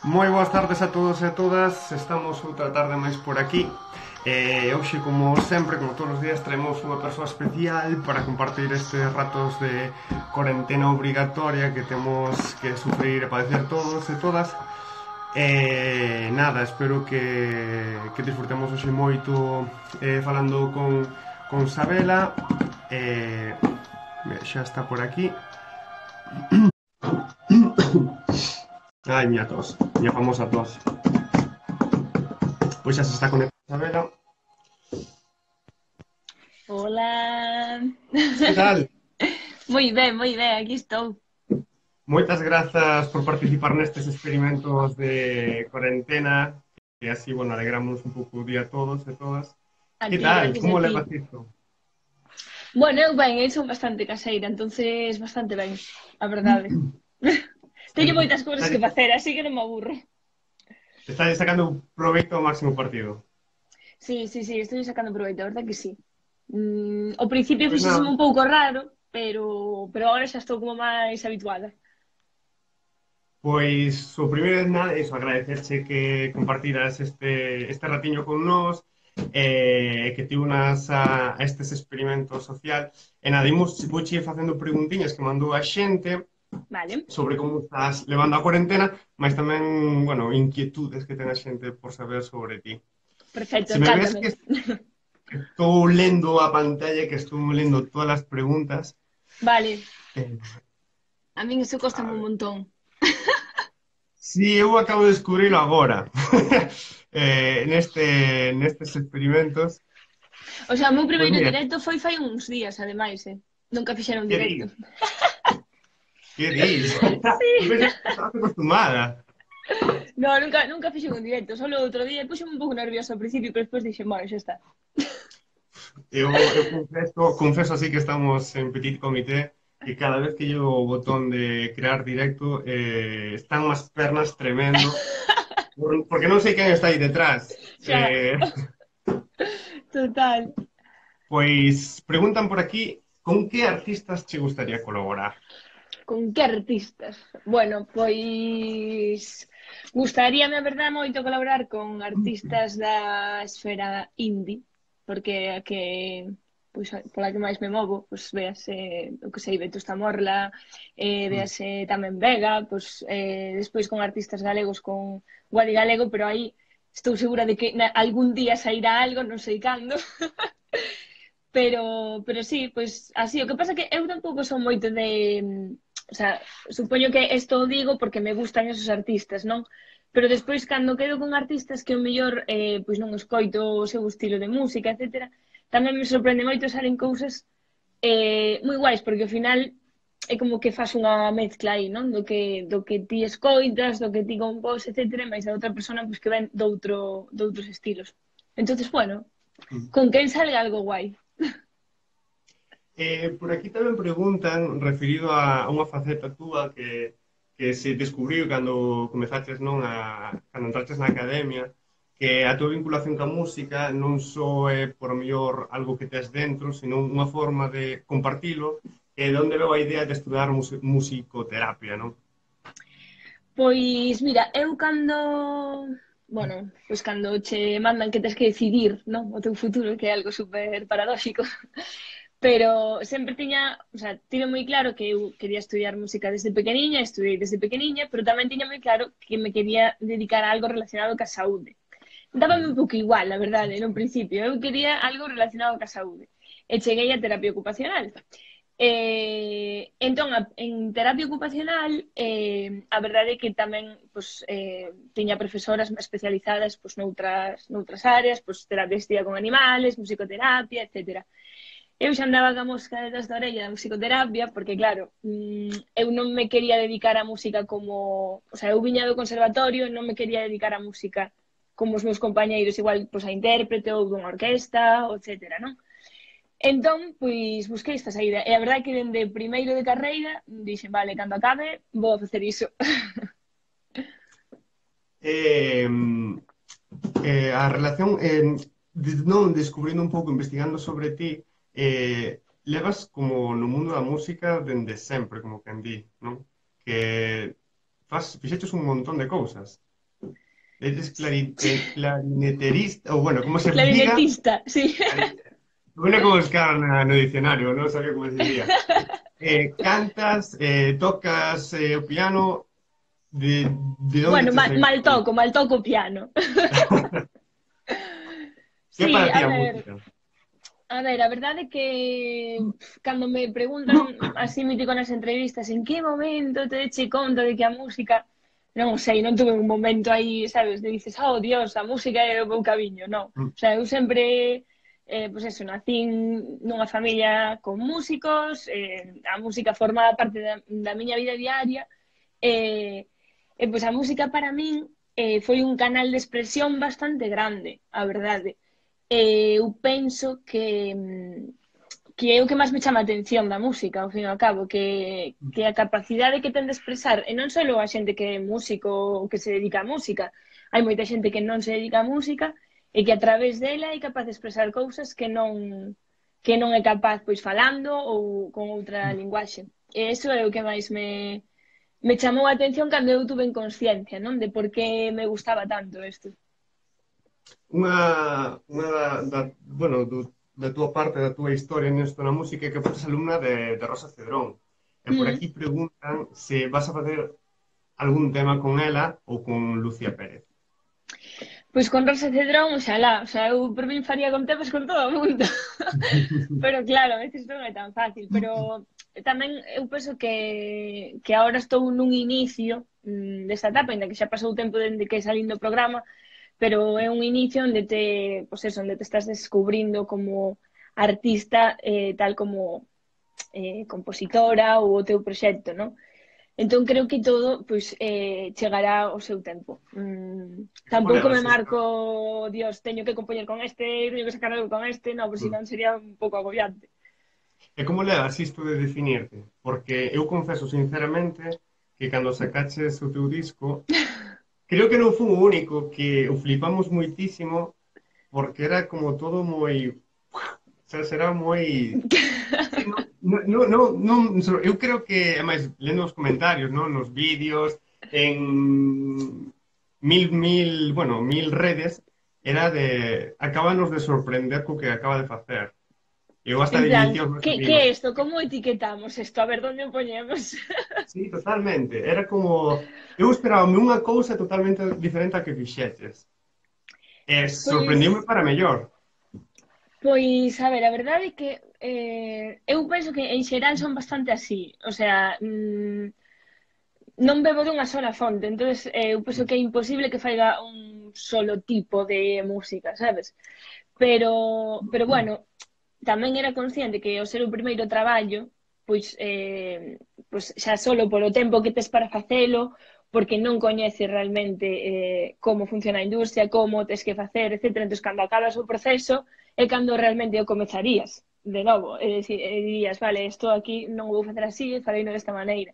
Moi boas tardes a todos e a todas. Estamos outra tarde máis por aquí. Hoxe, como sempre, como todos os días, traemos unha persoa especial para compartir estes ratos de cuarentena obrigatoria que temos que sufrir e padecer todos e todas. Nada, espero que disfrutemos hoxe moito falando con Sabela. Xa está por aquí. Ai, miña tos, miña famosa tos. Pois xa se está conectando Sabela. Hola. Que tal? Moi ben, aquí estou. Moitas grazas por participar nestes experimentos de cuarentena, que así, bueno, alegramos un pouco o día a todos e todas. A Que ti, tal? gracias a Como ti. levas isto? Bueno, eu ben, eu son bastante caseira, entonces bastante ben, a verdade. Teño moitas cousas que facer, así que non me aburro. Está sacando proveito ao máximo partido. Sí, estou sacando proveito, a verdade que sí. Ao principio Pois nada, fixéseme un pouco raro, pero agora xa estou como máis habituada. pois o primeiro de nada, iso, agradecerche que compartiras este ratiño con nós, que ti unas a estes experimentos social. E nada, imos, vouche facendo preguntiñas que mandou a xente, Vale, sobre como estás levando a cuarentena, mas tamén, bueno, inquietudes que ten a xente por saber sobre ti. perfecto, Se me ves encántame. que estou lendo a pantalla, que estou lendo todas as preguntas, Vale, eh, a min iso costame a un ver. montón. Si, eu acabo de descubrilo agora, nestes experimentos. O sea, o meu Pois primeiro mira, directo foi fai uns días, ademais, eh. Nunca fixeron que directo. dis? Que dis? Eu Sí. pensei que estabas acostumada. No, nunca fixen un directo, solo outro día puxeme un pouco nervioso ao principio, pero despois dixen, bueno, xa está. Eu confeso así que estamos en petit comité que cada vez que llevo o botón de crear directo están más pernas tremendo porque non sei quen está aí detrás. Xa, total. Pois preguntan por aquí con que artistas che gustaría colaborar? Con que artistas? Bueno, pois gustaríame, a verdade, moito colaborar con artistas da esfera indie, porque a que pois pola que máis me movo, pois véase, o que sei, Vetusta Morla, Mm. véase tamén Vega, pois despois con artistas galegos con Guadi Galego, pero aí estou segura de que algún día sairá algo, non sei cando. Pero sí, pois así, o que pasa é que eu tampouco son moito de, o sea, supoño que isto o digo porque me gustan esos artistas, non? Pero despois cando quedo con artistas que o mellor pois non escoito o seu estilo de música, etcétera, tamén me sorprende moito salen cousas moi guais, porque ao final é como que faz unha mezcla aí, non? Do que ti escoitas, do que ti compós, etcétera, mais a outra persona pois, que ven doutros estilos. Entonces, bueno, Mm. con quen salga algo guai. Por aquí tamén preguntan, referido a unha faceta túa que se descubriu cando comezaches, non, cando entraches na academia, que a tua vinculación ca música non só é por mellor algo que tes dentro, senón unha forma de compartilo, e de onde veo a idea de estudar musicoterapia, non? Pois mira, eu cando, bueno, pois cando che mandan que tes que decidir, non, o teu futuro, que é algo super paradóxico, pero sempre tiña, o sea, tive moi claro que eu quería estudiar música desde pequeniña, estudei desde pequeniña, pero tamén tiña moi claro que me quería dedicar a algo relacionado ca saúde. Dábame un pouco igual, a verdade, no principio, eu quería algo relacionado ca saúde. E cheguei a terapia ocupacional. Entón, en terapia ocupacional, a verdade é que tamén pues, tiña profesoras especializadas pues, noutras áreas, pues, terapia assistida con animales, musicoterapia, etc. Eu xa andaba ca mosca detrás da orella da musicoterapia, porque claro, eu non me quería dedicar á música como... O sea, eu viña do conservatorio e non me quería dedicar á música como os meus compañeiros, igual pues, a intérprete ou dunha orquesta, etc. Non? Entón, pois, busquei esta saída. E a verdade é que dende primeiro de carreira dixen, vale, cando acabe, vou a facer iso. Eh, a relación, non, descubrindo un pouco, investigando sobre ti, levas como no mundo da música dende sempre, como quen di, non? Que fixeches un montón de cousas. Eres clarineterista, ou bueno, como se diga, Clarinetista, sí. bueno, como buscar no diccionario, non sabía como se dicía. Cantas, tocas o piano, de, de onde Bueno, te saiu? mal toco piano. Que é Sí, para ti a música? a ver, a verdade é que cando me preguntan así mítico nas entrevistas en que momento te eche conta de que a música non sei, non tuve un momento aí, sabes, de dices, oh Dios, a música é o meu camiño, non. Mm. O sea, eu sempre, pois eso, nacín nunha familia con músicos, a música formaba parte da miña vida diaria, e, pois a música para min foi un canal de expresión bastante grande, a verdade. Eu penso que é o que máis me chama a atención da música, ao fin e ao cabo, que a capacidade que ten de expresar, e non só a xente que é músico ou que se dedica á música, hai moita xente que non se dedica á música e que a través dela é capaz de expresar cousas que non é capaz pois falando ou con outra linguaxe. E iso é o que máis me chamou a atención cando eu tuve en consciencia, non? De por que me gustaba tanto isto. Unha bueno, da túa parte, da túa historia nesto na música é que foste alumna de Rosa Cedrón. E por Mm. aquí preguntan se vas a facer algún tema con ela ou con Lucía Pérez. Pois con Rosa Cedrón, oxalá, o sea, eu por min faría con temas con todo o mundo. Pero claro, a veces non é tan fácil, pero tamén eu penso que agora estou nun inicio desta etapa, ainda que xa pasou o tempo dende que salín do programa, pero é un inicio onde pois eso, onde te estás descubrindo como artista, tal como compositora ou o teu proxecto, non? Entón creo que todo pois, chegará ao seu tempo. Ole, Tampouco me así está. marco, Dios, teño que compoñer con este, teño que sacar algo con este, no, por si non sería un pouco agobiante. E como levas isto de definirte? Porque eu confeso sinceramente que cando sacaches o teu disco, creo que non fui o único que o flipamos moitísimo porque era como todo moi... O sea, será moi... Sí, eu creo que, además, lendo os comentarios, non? Nos vídeos, en bueno, mil redes, era de... Acábanos de sorprender co que acaba de facer. Eu hasta En lle plan, dicía aos meus que amigos, é isto? Como etiquetamos isto? A ver, onde o poñemos? sí, totalmente, era como... Eu esperaba unha cousa totalmente diferente a que fixeches. E Pois, sorprendiume para mellor. pois, a ver, a verdade é que eu penso que en xeral son bastante así. O sea, non bebo dunha sola fonte, entonces eu penso que é imposible que faiga un solo tipo de música, sabes? Pero bueno, tamén era consciente que ao ser o primeiro traballo, pois xa solo polo tempo que tes para facelo, porque non coñeces realmente como funciona a industria, como tes que facer, etc. Entón, cando acabas o proceso, é cando realmente o comezarías de novo. E dirías, vale, isto aquí non o vou facer así, farei desta maneira.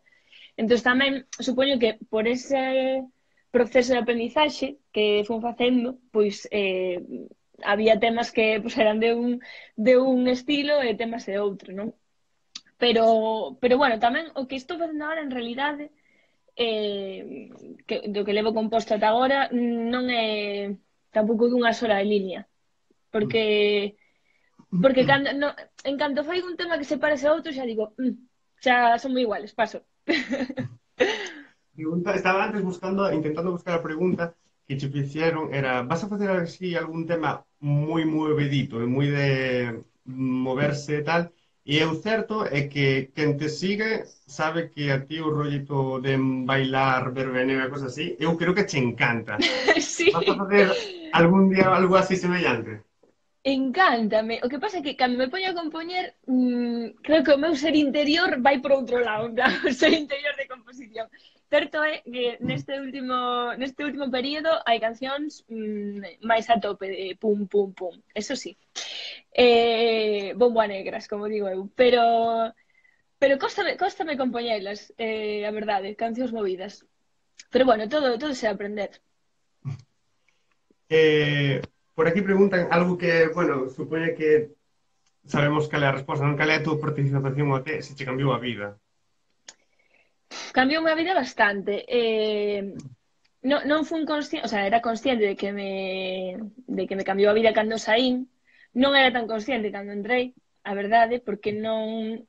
Entón, tamén, supoño que por ese proceso de aprendizaxe que fun facendo, pois había temas que pois, eran de un estilo e temas de outro, non? Pero bueno, tamén o que estou facendo agora en realidade do que levo composto ata agora non é tampouco dunha sola línea, porque cando, no, en canto fai un tema que se parece a outro xa digo, xa son moi iguales, paso. Estaba antes intentando buscar a pregunta que che fixeron, era, vas a facer así algún tema moi movedito, e moi de moverse e tal, e o certo é que quen te sigue sabe que a ti o rollito de bailar, verbeneo e cosas así, eu creo que che encanta. Sí. Vas a facer algún día algo así semellante? Encántame. O que pasa é que cando me poño a compoñer, creo que o meu ser interior vai por outro lado, en plan, o ser interior de composición. Certo é que neste último período hai cancións máis a tope de pum, pum, pum. Eso sí. Bombo a negras, como digo eu. Pero cóstame compoñelas, a verdade, cancións movidas. Pero bueno, todo se aprender. Por aquí preguntan algo que, bueno, supone que sabemos cal é a resposta, non cal é a túa participación o te, se che cambiou a vida. Cambiou a vida bastante. non fun consciente, o sea, era consciente de que me cambiou a vida cando saín, non era tan consciente cando entrei, a verdade, porque non...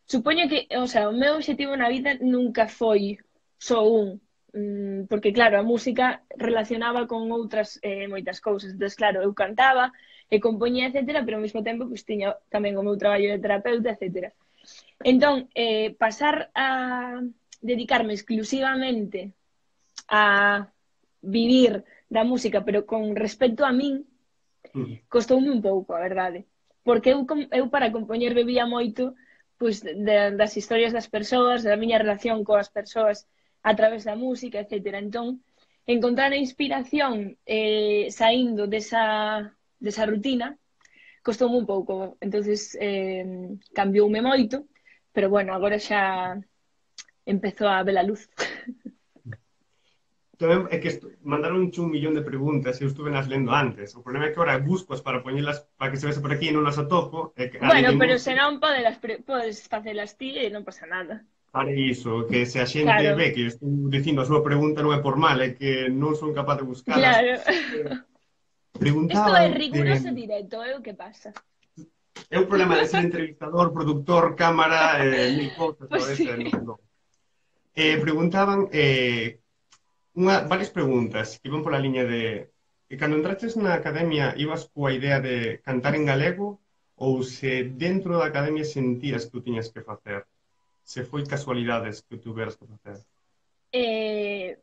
Supoño que, o sea, o meu objetivo na vida nunca foi só un, porque claro, a música relacionaba con outras moitas cousas. Entón, claro, eu cantaba e compoñía, etcétera, pero ao mesmo tempo pues, tiña tamén o meu traballo de terapeuta, etcétera. Entón, pasar a dedicarme exclusivamente a vivir da música, pero con respecto a min, Mm. costoume un pouco, a verdade. Porque eu para compoñer bebía moito pois, das historias das persoas, da miña relación coas persoas a través da música, etc. Entón, encontrar a inspiración saindo desa rutina costoume un pouco. Entonces cambioume moito, pero bueno, agora xa empezou a ver a luz. Tamén é que mandaron un millón de preguntas e eu estuve nas lendo antes. O problema é que ahora buscos para poñelas para que se vese por aquí e non las atopo. E que a lei Bueno, de pero Murphy senón podes facelas ti e non pasa nada. para iso, que se a xente Claro, ve que eu estou dicindo a súa pregunta non é por mal, é que non son capaz de buscalas. claro. Eh, Isto é Preguntaban de... riguroso directo, é o que pasa. É un problema de ser entrevistador, productor, cámara, mil cousas a Pois veces, sí. non. Preguntaban varias preguntas que iban pola liña de cando entraches na academia ibas coa idea de cantar en galego ou se dentro da academia sentías que o tiñas que facer? Se foi casualidades que o tuveras que facer? Eh,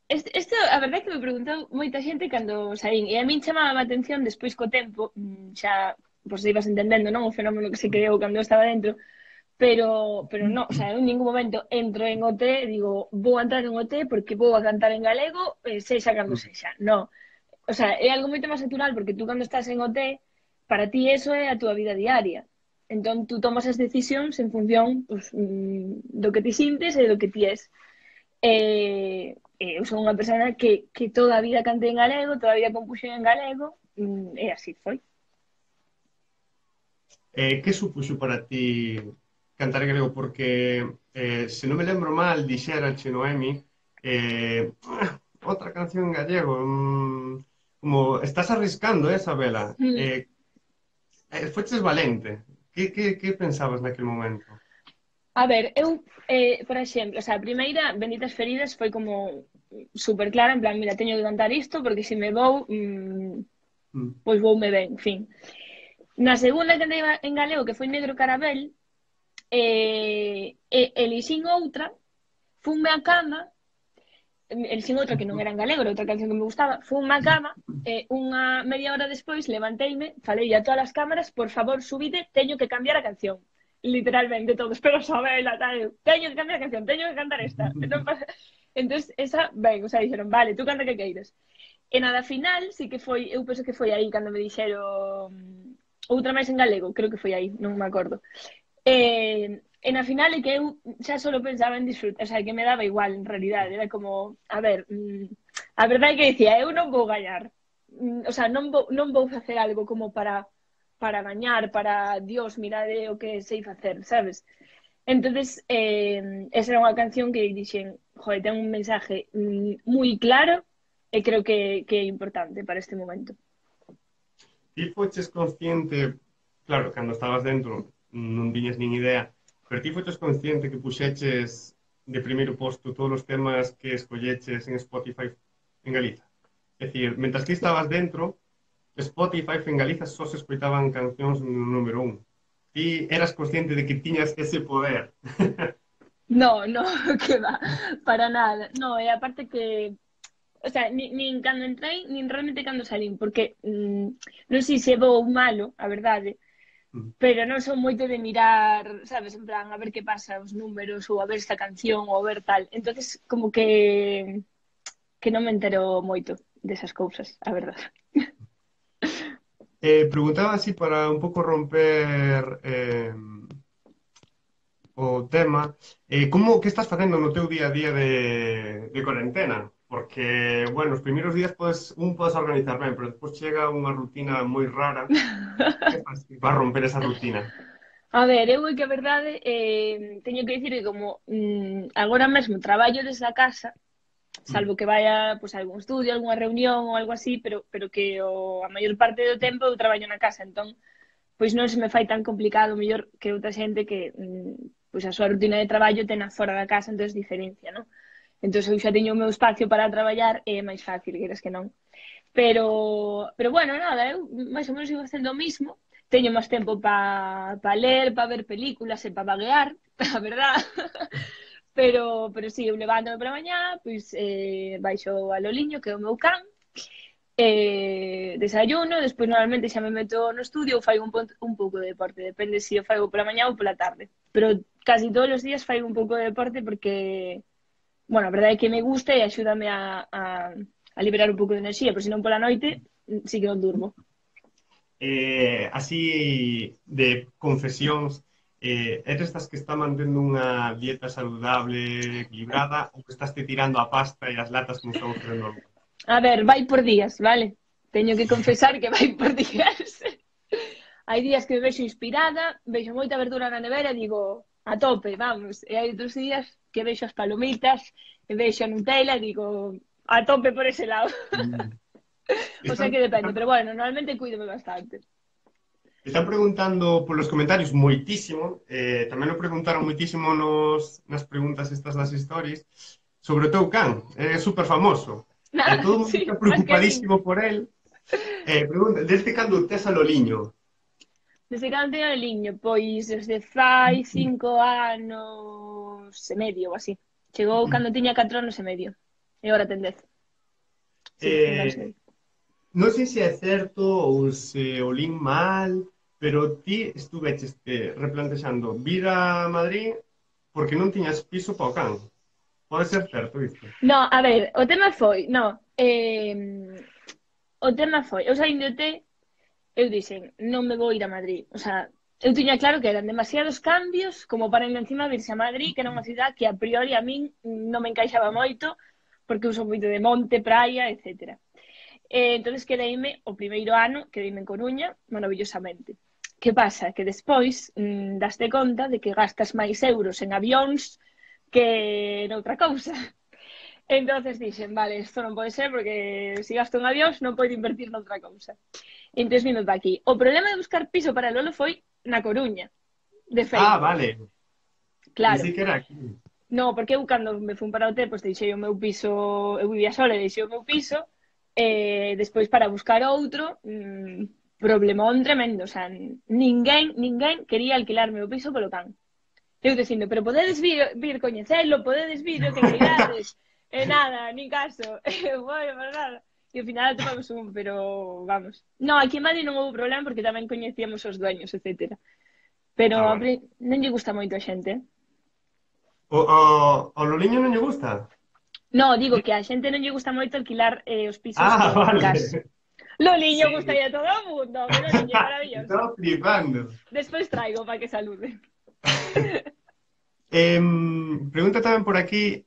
Isto, a verdade é que me preguntou moita xente cando saín, e a min chamaba a atención despois co tempo, xa, pois ibas entendendo, non? O fenómeno que se creou cando eu estaba dentro, pero non, o sea, eu en ningún momento entro en OT e digo, vou entrar en OT porque vou a cantar en galego, sexa cando sexa. Non. O sea, é algo moito máis natural porque tú cando estás en OT, para ti eso é a túa vida diaria. Entón, tú tomas as decisións en función pues, do que ti sintes e do que ti és. Eu son unha persona que toda a vida cantei en galego, toda a vida compuxen en galego, e así foi. Que supuxo para ti cantar en galego? Porque, se non me lembro mal, dixera che Noemi, outra canción en gallego, como estás arriscando, Sabela? Mm. Foches valente. Que pensabas naquele momento? A ver, eu, por exemplo, o sea, a primeira, Benditas Feridas, foi como super clara, en plan, mira, teño que cantar isto, porque se me vou, Mm. pois voume ben, en fin. Na segunda que andei en galego, que foi Negro Carabel, elixín outra, funme a cama, elixín outra que non era en galego, era outra canción que me gustaba, funme a cama, unha media hora despois levanteime, falei a todas as cámaras, por favor, subide, teño que cambiar a canción. Literalmente todos, pero Sabela, tal, teño que cambiar a canción, teño que cantar esta. Non pasa... Entón, esa, ben, o sea, dixeron, vale, tú canta que queiras. E nada, final, sí que foi, eu penso que foi aí cando me dixeron outra máis en galego, creo que foi aí, non me acordo. E na final é que eu xa só pensaba en disfrutar, o sea, que me daba igual, en realidade, era como, a ver, a verdade é que dicía, eu non vou gañar, o sea, non vou facer algo como para gañar, para, Dios, mirade o que sei facer, sabes? Entonces, esa era unha canción que dixen, joder, ten un mensaje moi claro e creo que é importante para este momento. Ti foches consciente, claro, cando estabas dentro non tiñas nin idea, pero ti foches consciente que puxeches de primeiro posto todos os temas que escolleches en Spotify en Galiza? É dicir, mentras ti estabas dentro, Spotify en Galiza só se escoitaban cancións no número 1. Ti eras consciente de que tiñas ese poder. No, no, que va, para nada. No, e aparte que, o sea, nin cando entrei, nin realmente cando salín, porque non sei se é bo ou malo, a verdade, pero non son moito de mirar, sabes, en plan, a ver que pasa os números, ou a ver esta canción, ou a ver tal. Entonces, como que non me entero moito desas cousas, a verdade. Preguntaba así para un pouco romper o tema, que estás facendo no teu día a día de cuarentena? Porque, bueno, os primeiros días podes organizar ben, pero despois chega unha rutina moi rara. Que faz para romper esa rutina? A ver, eu é que a verdade teño que dicir que como agora mesmo traballo desde a casa, Mm. salvo que vaya pois, a algún estudio, algunha reunión ou algo así, pero que a maior parte do tempo eu traballo na casa, entón pois non se me fai tan complicado mellor que outra xente que pois a súa rutina de traballo tena fora da casa, entón diferencia, non? Entón eu xa teño o meu espacio para traballar e é máis fácil, queres que non. Pero bueno, nada, eu máis ou menos sigo facendo o mismo. Teño máis tempo para ler, para ver películas e para vaguear, a verdad. Pero sí, eu levántome para mañá, pois baixo a Loliño, que é o meu can, desayuno, despois normalmente xa me meto no estudio ou fai un pouco de deporte, depende se o faigo pola mañá ou pola tarde. Pero casi todos os días fai un pouco de deporte porque, bueno, a verdade é que me gusta e axúdame a liberar un pouco de enerxía, pero se non pola noite, sí que non durmo. Así de confesións, eres das que está mantendo unha dieta saludable, equilibrada, ou que estás te tirando a pasta e as latas como estamos facendo algo? A ver, vai por días, vale? Teño que confesar que vai por días. Hai días que me vexo inspirada, vexo moita verdura na nevera e digo, a tope, vamos. E hai outros días que vexo as palomitas, e vexo a Nutella e digo, a tope por ese lado. Mm. O sea Están, que depende, están, pero bueno, normalmente cuídome bastante. están preguntando polos comentarios moitísimo, tamén o preguntaron moitísimo nas preguntas estas das stories, sobre o teu can, é super famoso. Todo o mundo Sí, está más que a min. preocupadísimo por el. Pregunta, desde cando tes a Loliño? Desde cando teño o liño, pois desde fai 5 anos e medio ou así. Chegou cando tiña 4 anos e medio. E agora ten 10. Sí, 5 anos e Eh, medio. non sei se é certo ou se o lin mal, pero ti estuveches replantexando vir a Madrid porque non tiñas piso para o can. Pode ser certo isto? No, a ver, o tema foi, no, o tema foi, eu saindo de T, eu dixen, non me vou ir a Madrid. O sea, eu tiña claro que eran demasiados cambios como para ir encima virse a Madrid, que era unha cidade que a priori a min non me encaixaba moito, porque eu sou moito de monte, praia, etcétera. Entonces quedeime o primeiro ano, quedeime en Coruña, maravillosamente. Que pasa? Que despois daste conta de que gastas máis euros en avións que noutra cousa. Entonces dixen, vale, isto non pode ser porque se gasto en avións non podo invertir noutra cousa. Entón vimos para aquí. O problema de buscar piso para Lolo foi na Coruña, de Ah, feito. vale. Claro. Pensei que era aquí. No, porque eu cando me fun para o hotel, pois deixei o meu piso, eu vivía sola e deixei o meu piso, despois para buscar outro, problemón tremendo, o sea, ninguén quería alquilarme o piso polo can. Eu dicindo, pero podedes vir coñecelo, podedes vir o que queirades, e nada, nin caso, bueno, para nada. E ao final atopamos un, pero vamos. No, aquí en Madrid non houve problema porque tamén coñecíamos os dueños, etcétera. Pero Ah, vale. non lle gusta moito a xente, eh? Ao Loliño non lle gusta? No, digo que a xente non lle gusta moito alquilar os pisos Ah, en vale. casa. Loliño Sí, gustaría a todo o mundo, que Loliño é maravilloso. estaba flipando. Despois traigo para que salude. Pregunta tamén por aquí,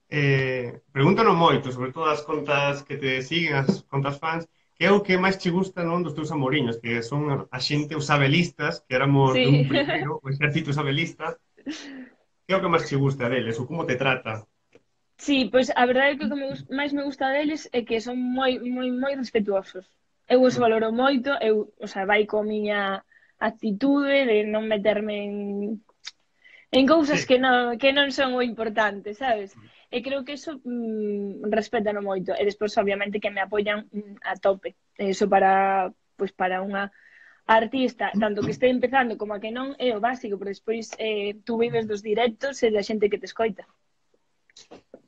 pregúntano moito, sobre todo as contas que te siguen, as contas fans, que é o que máis che gusta non dos teus amoriños, que son a xente os abelistas, que éramos Sí. dun primeiro, o exército sabelista, que é o que máis che gusta deles, ou como te trata? Sí, pois a verdade é que o que máis me gusta deles é que son moi respetuosos. Eu os Mm. valoro moito, eu, o sea, vai coa miña actitude de non meterme en cousas Sí. que non son o importante, sabes? E creo que eso respétano moito. E despois, obviamente, que me apoian a tope. Eso para, pois, para unha artista, tanto que este empezando como a que non, é o básico, pero despois tú vives dos directos e da xente que te escoita.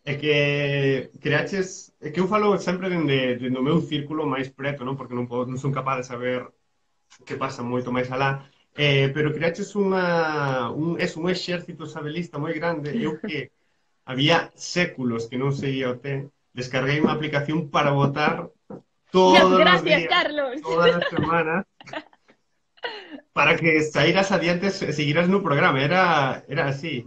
É que creaches, é que eu falo sempre dende o meu círculo máis preto, non? Porque non son capaz de saber que pasa moito máis alá, pero creaches un exército sabelista moi grande. Eu que había séculos que non seguía o té, descarguei unha aplicación para votar Dios, todos os gracias, días, Carlos. todas as semanas, para que saíras adiante e seguiras no programa. Era así.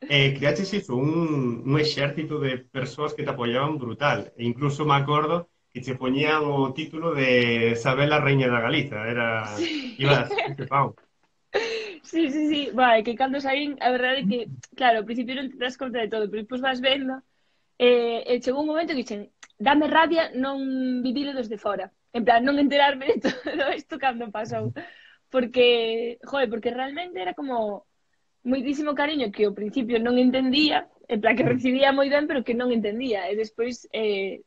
Creaches iso, un exército de persoas que te apoyaban brutal. E incluso me acordo que che poñían o título de Sabela Reina da Galiza. Sí. Ibas, este pau. Sí, sí, sí. Vai, que cando saín, a verdade é que, claro, ao principio non te das conta de todo, pero despois vas vendo E chegou un momento que dixen, dame rabia non vivilo desde fora. En plan, non enterarme de todo isto cando pasou. Porque, joder, porque realmente era como moitísimo cariño que ao principio non entendía, en plan que recibía moi ben, pero que non entendía. E despois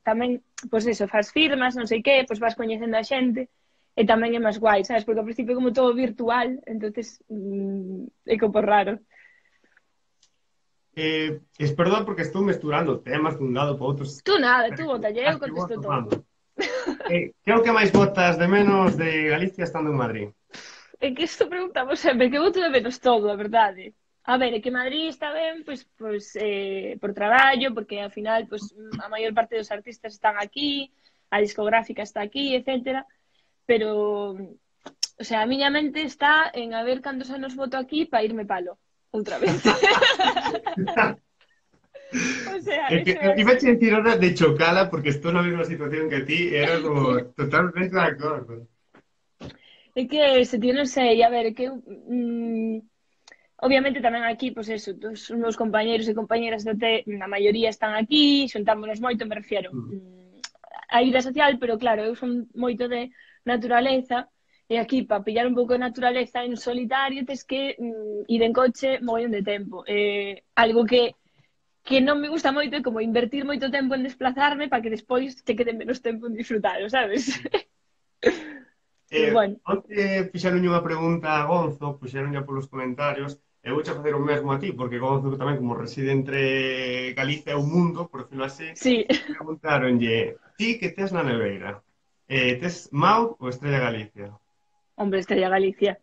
tamén, pois eso, faz firmas, non sei que, pois vas coñecendo a xente, e tamén é máis guai, sabes? Porque ao principio como todo virtual, entonces é como raro. Perdón porque estou mesturando temas dun lado para outros. Tú nada, Pero tú é que botalle, as eu que vou contesto todo. tomando. Que é o que máis botas de menos de Galicia estando en Madrid? É que isto preguntamos sempre, que boto de menos todo, a verdade. A ver, é que Madrid está ben, pois por traballo, porque ao final pois, a maior parte dos artistas están aquí, a discográfica está aquí, etcétera. Pero, o sea, a miña mente está en a ver cantos anos voto aquí para irme palo, outra vez. O sea, É que eso é iba a así. decir ahora de chocala porque estou na mesma situación que ti e era como totalmente de acordo. É que se ti non sei, a ver, é que obviamente tamén aquí, pois eso, os meus compañeiros e compañeras do T, a maioría están aquí, xuntámonos moito, me refiero a vida social, pero claro, eu son moito de naturaleza, e aquí, para pillar un pouco de naturaleza en solitario, tes que ir en coche mogollón de tempo. Algo que non me gusta moito é como invertir moito tempo en desplazarme para que despois te quede menos tempo en disfrutalo, sabes? Pero bueno, Onte fixeron unha pregunta a Gonzo, puxeron polos comentarios, e vouche facer o mesmo a ti, porque Gonzo tamén como reside entre Galicia e o mundo, por decirlo así, sí. preguntaronlle, ti que tes na neveira, tes Mau ou Estrella Galicia? Hombre, Estrella Galicia.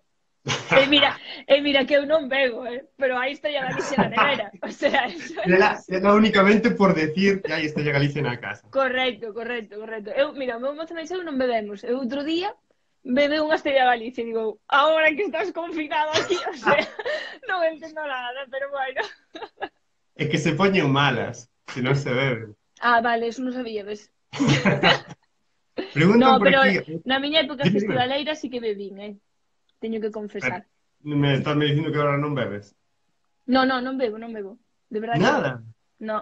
Mira que eu non bebo, pero aí Estrella Galicia na nevera. O sea, eso é así. Era únicamente por decir que hai Estrella Galicia na casa. Correcto, correcto, correcto. Mira, o meu mozo me dixo non bebemos. Eu outro día bebe unha Estrella Galicia e digo, agora que estás confinado aquí, o sea, non entendo nada, pero bueno. É que se poñen malas, se non se beben. Ah, vale, eso non sabía, ves? No, Preguntan por pero aquí. na miña época Dime, dime. festivaleira sí que bebín, teño que Pero, confesar. me estás me dicindo que agora non bebes. No, no, non bebo, non bebo. De verdade que non. Nada. No,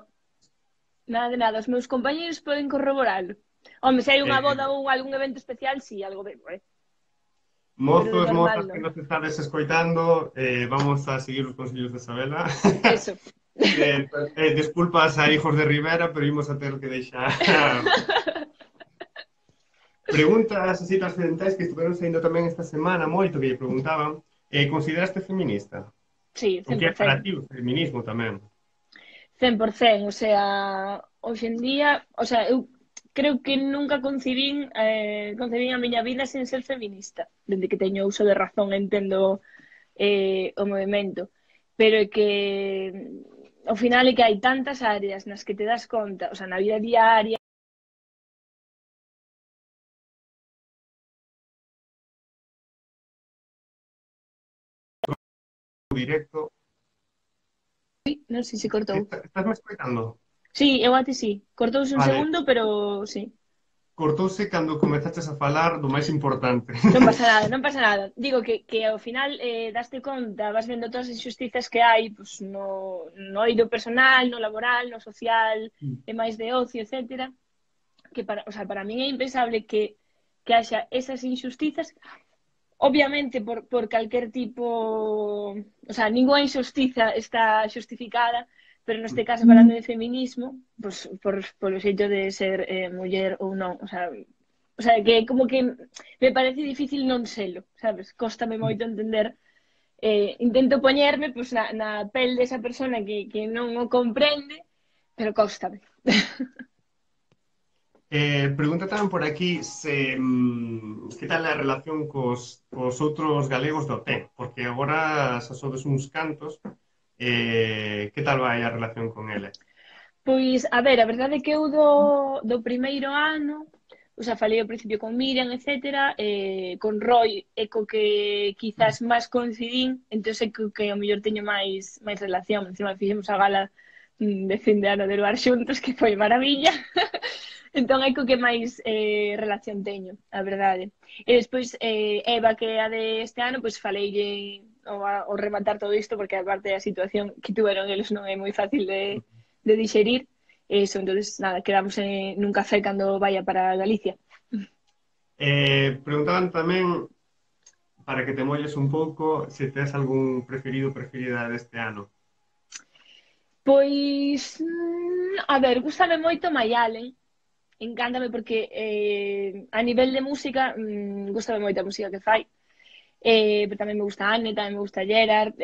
nada de nada. Os meus compañeros poden corroboralo. Home, se hai unha boda ou algún evento especial, sí, algo bebo, Pero de Mozos, normal mozas que non. nos estades escoitando, vamos a seguir os consellos de Isabela. Eso. Disculpas a hijos de Rivera, pero imos a ter que deixar. Preguntas así trascendentais que estiveron saindo tamén esta semana moito que lle preguntaban. Consideraste feminista? Sí, O que é para 100%. ti o feminismo tamén? 100%, o sea, hoxe en día, o sea, eu creo que nunca concebín a miña vida sen ser feminista. Dende que teño uso de razón entendo o movimento. Pero é que ao final é que hai tantas áreas nas que te das conta, o sea, na vida diaria, Directo. non sei se cortou. Estás me escoitando? Sí, eu a ti sí. Cortouse un Vale. segundo, pero sí. Cortouse cando comezaches a falar do máis importante. Non pasa nada, non pasa nada. Digo que ao final daste conta, vas vendo todas as injustizas que hai pues, no eido personal, no laboral, no social, e máis de ocio, etcétera. Que o sea, para min é impensable que haxa esas injustizas, obviamente por calquer tipo, o sea, ninguna injustiza está justificada, pero neste caso falando de feminismo, pues, por o xeito de ser muller ou non, o sea, que como que me parece difícil non selo, sabes? Cóstame moito entender, intento poñerme pues, na pel desa persona que non o comprende, pero cóstame. Pregunta tamén por aquí se que tal a relación cos outros galegos do T, porque agora xa sodes uns cantos, que tal vai a relación con eles? Pois, a ver, a verdade é que eu do primeiro ano, o sea, falei ao principio con Miriam, etcétera, con Roy é co que quizás máis coincidín, entón é co que ao mellor teño máis relación. Encima fixemos a gala de fin de ano de Luar xuntos, que foi maravilla. Entón é co que máis relación teño, a verdade. E despois Eva, que é a de este ano, pois faleille ao rematar todo isto, porque aparte a situación que tuveron eles non é moi fácil de digerir. Eso, entonces, nada, quedamos nun café cando vaya para Galicia. Preguntaban tamén, para que te molles un pouco, se tes algún preferido, preferida deste ano. Pois, a ver, gustame moito Mayalen, encántame porque a nivel de música, gustame moito a música que fai. Pero tamén me gusta Anne, tamén me gusta Gerard,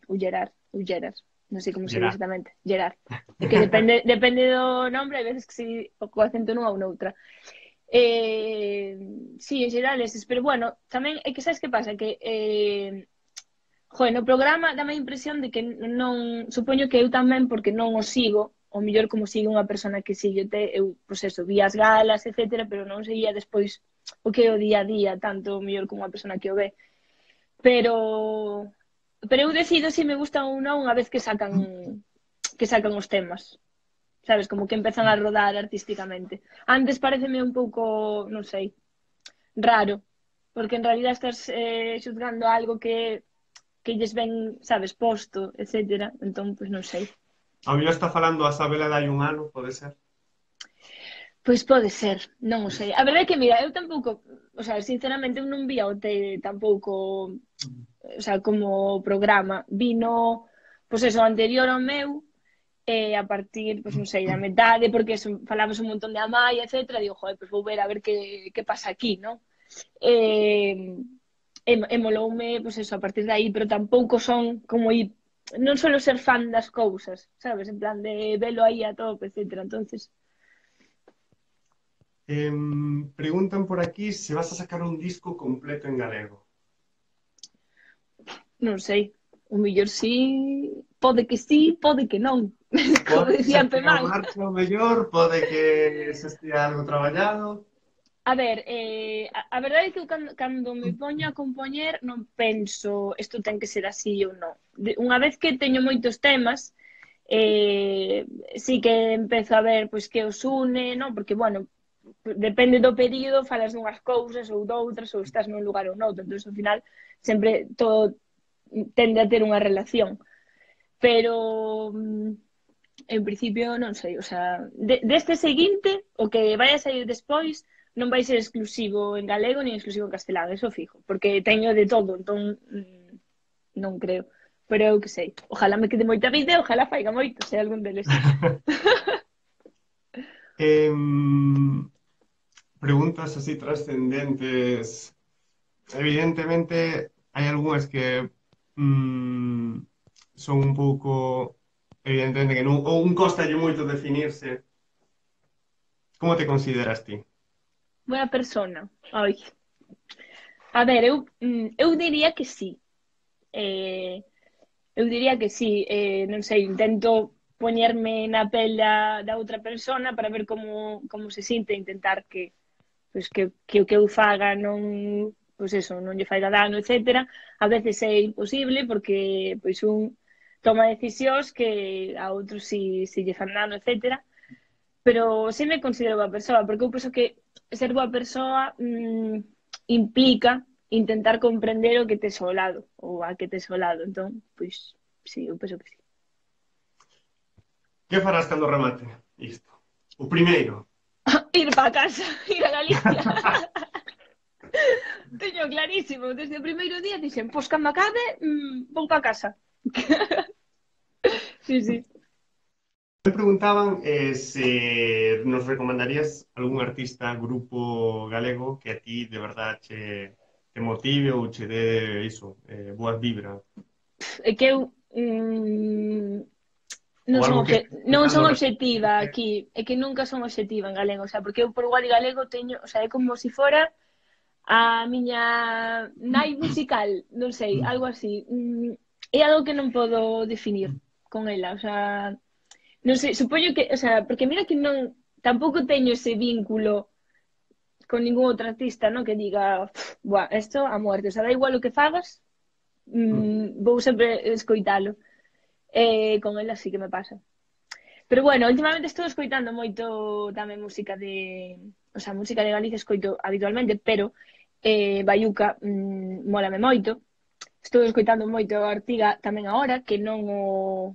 o Gerard, non sei como se dice Gerard. exactamente, Gerard. É que depende do nombre, hai veces que si o co acento nunha ou noutra. Sí, en xeral eses, pero bueno, tamén é que sabes que pasa, que joder, no programa dame a impresión de que non, supoño que eu tamén porque non o sigo, o mellor como sigo unha persona que sigue te, eu, pois eso, vi as galas, etcétera, pero non seguía despois o que é o día a día, tanto o mellor como unha persona que o ve. Pero eu decido se me gustan ou non unha vez que sacan os temas. Sabes, como que empezan a rodar artísticamente. Antes pareceme un pouco, non sei, raro, porque en realidad estás xuzgando algo que lles ven, sabes, posto, etcétera. Entón, pois non sei. A mellor está falando a Sabela de hai un ano, pode ser? Pois pode ser, non o sei. A verdade é que, mira, eu tampouco, o sea, sinceramente, eu non vi a OT tampouco, o sea, como programa. Vino, pois eso, anterior ao meu, a partir, pois non sei, da metade, porque eso, falamos un montón de Amaya, etcétera, digo, joder, pois vou ver a ver que pasa aquí, non? Moloume, pois eso, a partir de aí, pero tampouco son como ir, non suelo ser fan das cousas, sabes, en plan de velo aí a tope, etcétera, entonces, Preguntan por aquí se vas a sacar un disco completo en galego. non sei, o mellor sí, pode que non, como Pode que xa decía estea en Pemán. marcha o mellor, pode que xa estea algo traballado. A ver, a verdade é que eu cando me poño a compoñer non penso isto ten que ser así ou non. Unha vez que teño moitos temas, sí que empezo a ver pois que os une, non? Porque, bueno, depende do período, falas dunhas cousas ou doutras, ou estás nun lugar ou noutro. Entón, ao final, sempre todo tende a ter unha relación. Pero, en principio, non sei, o sea, deste seguinte, o que vai a sair despois, non vai ser exclusivo en galego nin exclusivo en castelán, eso fijo, porque teño de todo, entón non creo. Pero eu que sei, ojalá me quede moita vida, ojalá faiga moito, sei algún deles. Em, Preguntas así trascendentes. Evidentemente, hai algunhas que son un pouco, evidentemente que non, ou un costalle moito definirse. Como te consideras ti? Buena persona. Ai. A ver, eu diría que sí. Eh, eu diría que sí. Non sei, intento poñerme na pel da outra persona para ver como se sinte, intentar pois, que o que eu faga non, pois eso, non lle faiga dano, etcétera. A veces é imposible porque pois un toma decisións que a outros si lle fan dano, etcétera. Pero sí me considero boa persoa, porque eu penso que ser boa persoa implica intentar comprender o que tes ao lado, ou a que tes ao lado. Entón, pois, sí, eu penso que sí. Que farás cando remate isto? O primeiro. Ir para casa, ir a Galicia. Teño clarísimo, desde o primeiro día dixen, pois cando acabe, vou para casa. Sí, sí. Me preguntaban se nos recomendarías algún artista, grupo galego que a ti de verdad te motive ou che dé iso, boas vibras. É que eu Ou non son, algo que non son escoitando obxectiva recentemente. aquí, é que nunca son obxectiva en galego, o sea, porque eu por igual de galego teño, o sea, é como se fora a miña nai musical, non sei, algo así. É algo que non podo definir con ela, o sea, non sei, supoño que, o sea, porque mira que non, tampouco teño ese vínculo con ningún outro artista, non? Que diga, buah, esto a muerte, o sea, da igual o que fagas, vou sempre escoitalo. Con ela sí que me pasa. Pero bueno, últimamente estou escoitando moito tamén música o sea, música de Galicia escoito habitualmente, pero Baiuca mólame moito. Estou escoitando moito a Artiga tamén agora, que non o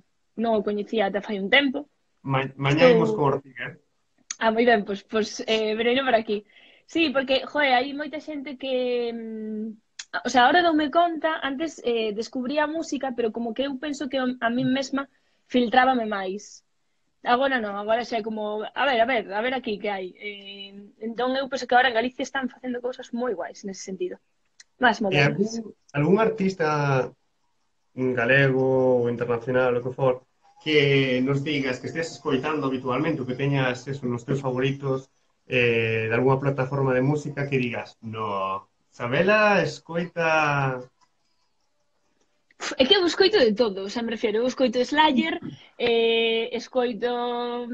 coñecía ata fai un tempo. Mañá imos Estou... con Ortiga, eh? Moi ben, pois vereino por aquí. Sí, porque, joe, hai moita xente que... o sea, ahora doume conta, antes descubría a música, pero como que eu penso que a mí mesma filtrábame máis. Agora non, agora xa é como, a ver aquí que hai. Entón eu penso que agora en Galicia están facendo cousas moi guais nese sentido, máis E modernas. algún artista galego ou internacional, o que for, que nos digas que estés escoitando habitualmente, ou que teñas eso nos teus favoritos de algunha plataforma de música que digas, no, Sabela escoita... É que eu escoito de todo, o sea, me refiero, eu escoito Slayer, escoito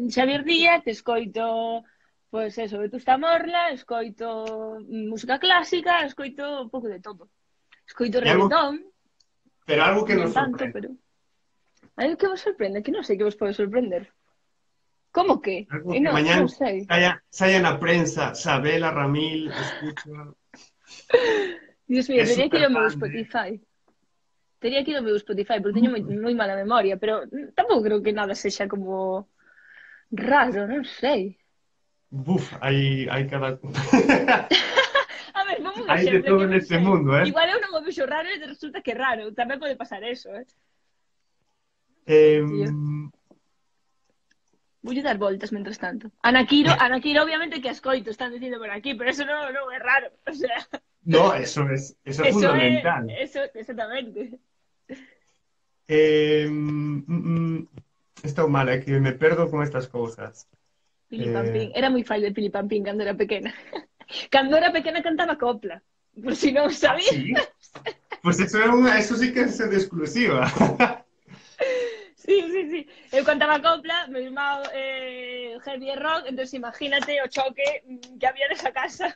Xavier Díaz, escoito, pois eso, Vetusta Morla, escoito música clásica, escoito un pouco de todo. Escoito E algo, reggaetón, pero algo que non nos tanto, sorprende. pero... Hai que vos sorprende, que non sei que vos pode sorprender. Como que? Algo E que non, mañán non sei. saia na prensa, Sabela Ramil escucha, Dios mío, é teria que super ir ao meu fan de... Spotify. Teria que ir ao meu Spotify, porque teño moi mala memoria, pero tampouco creo que nada sexa como raro, non sei. Buf, hai cada... A ver, vamos un hai de exemplo, todo que non neste sei. mundo, eh? Igual eu non o vexo raro e resulta que é raro. Tamén pode pasar eso, eh? Eh, Tío. Voulle dar voltas mentras tanto. Anakiro obviamente que ascoito, están dicindo por aquí, pero eso non é raro. O sea, no, eso es eso é... fundamental. Eso, exactamente. Estou mal, é que me perdo con estas cousas. Pilipampín. Eh, Era moi fai de Pilipampín cando era pequena. Cando era pequena cantaba copla. Por si non sabía. sí? Pues eso sí que es de exclusiva. Sí, sí, sí. Eu cantaba copla, meu irmão heavy rock, entón imagínate o choque que había nesa casa.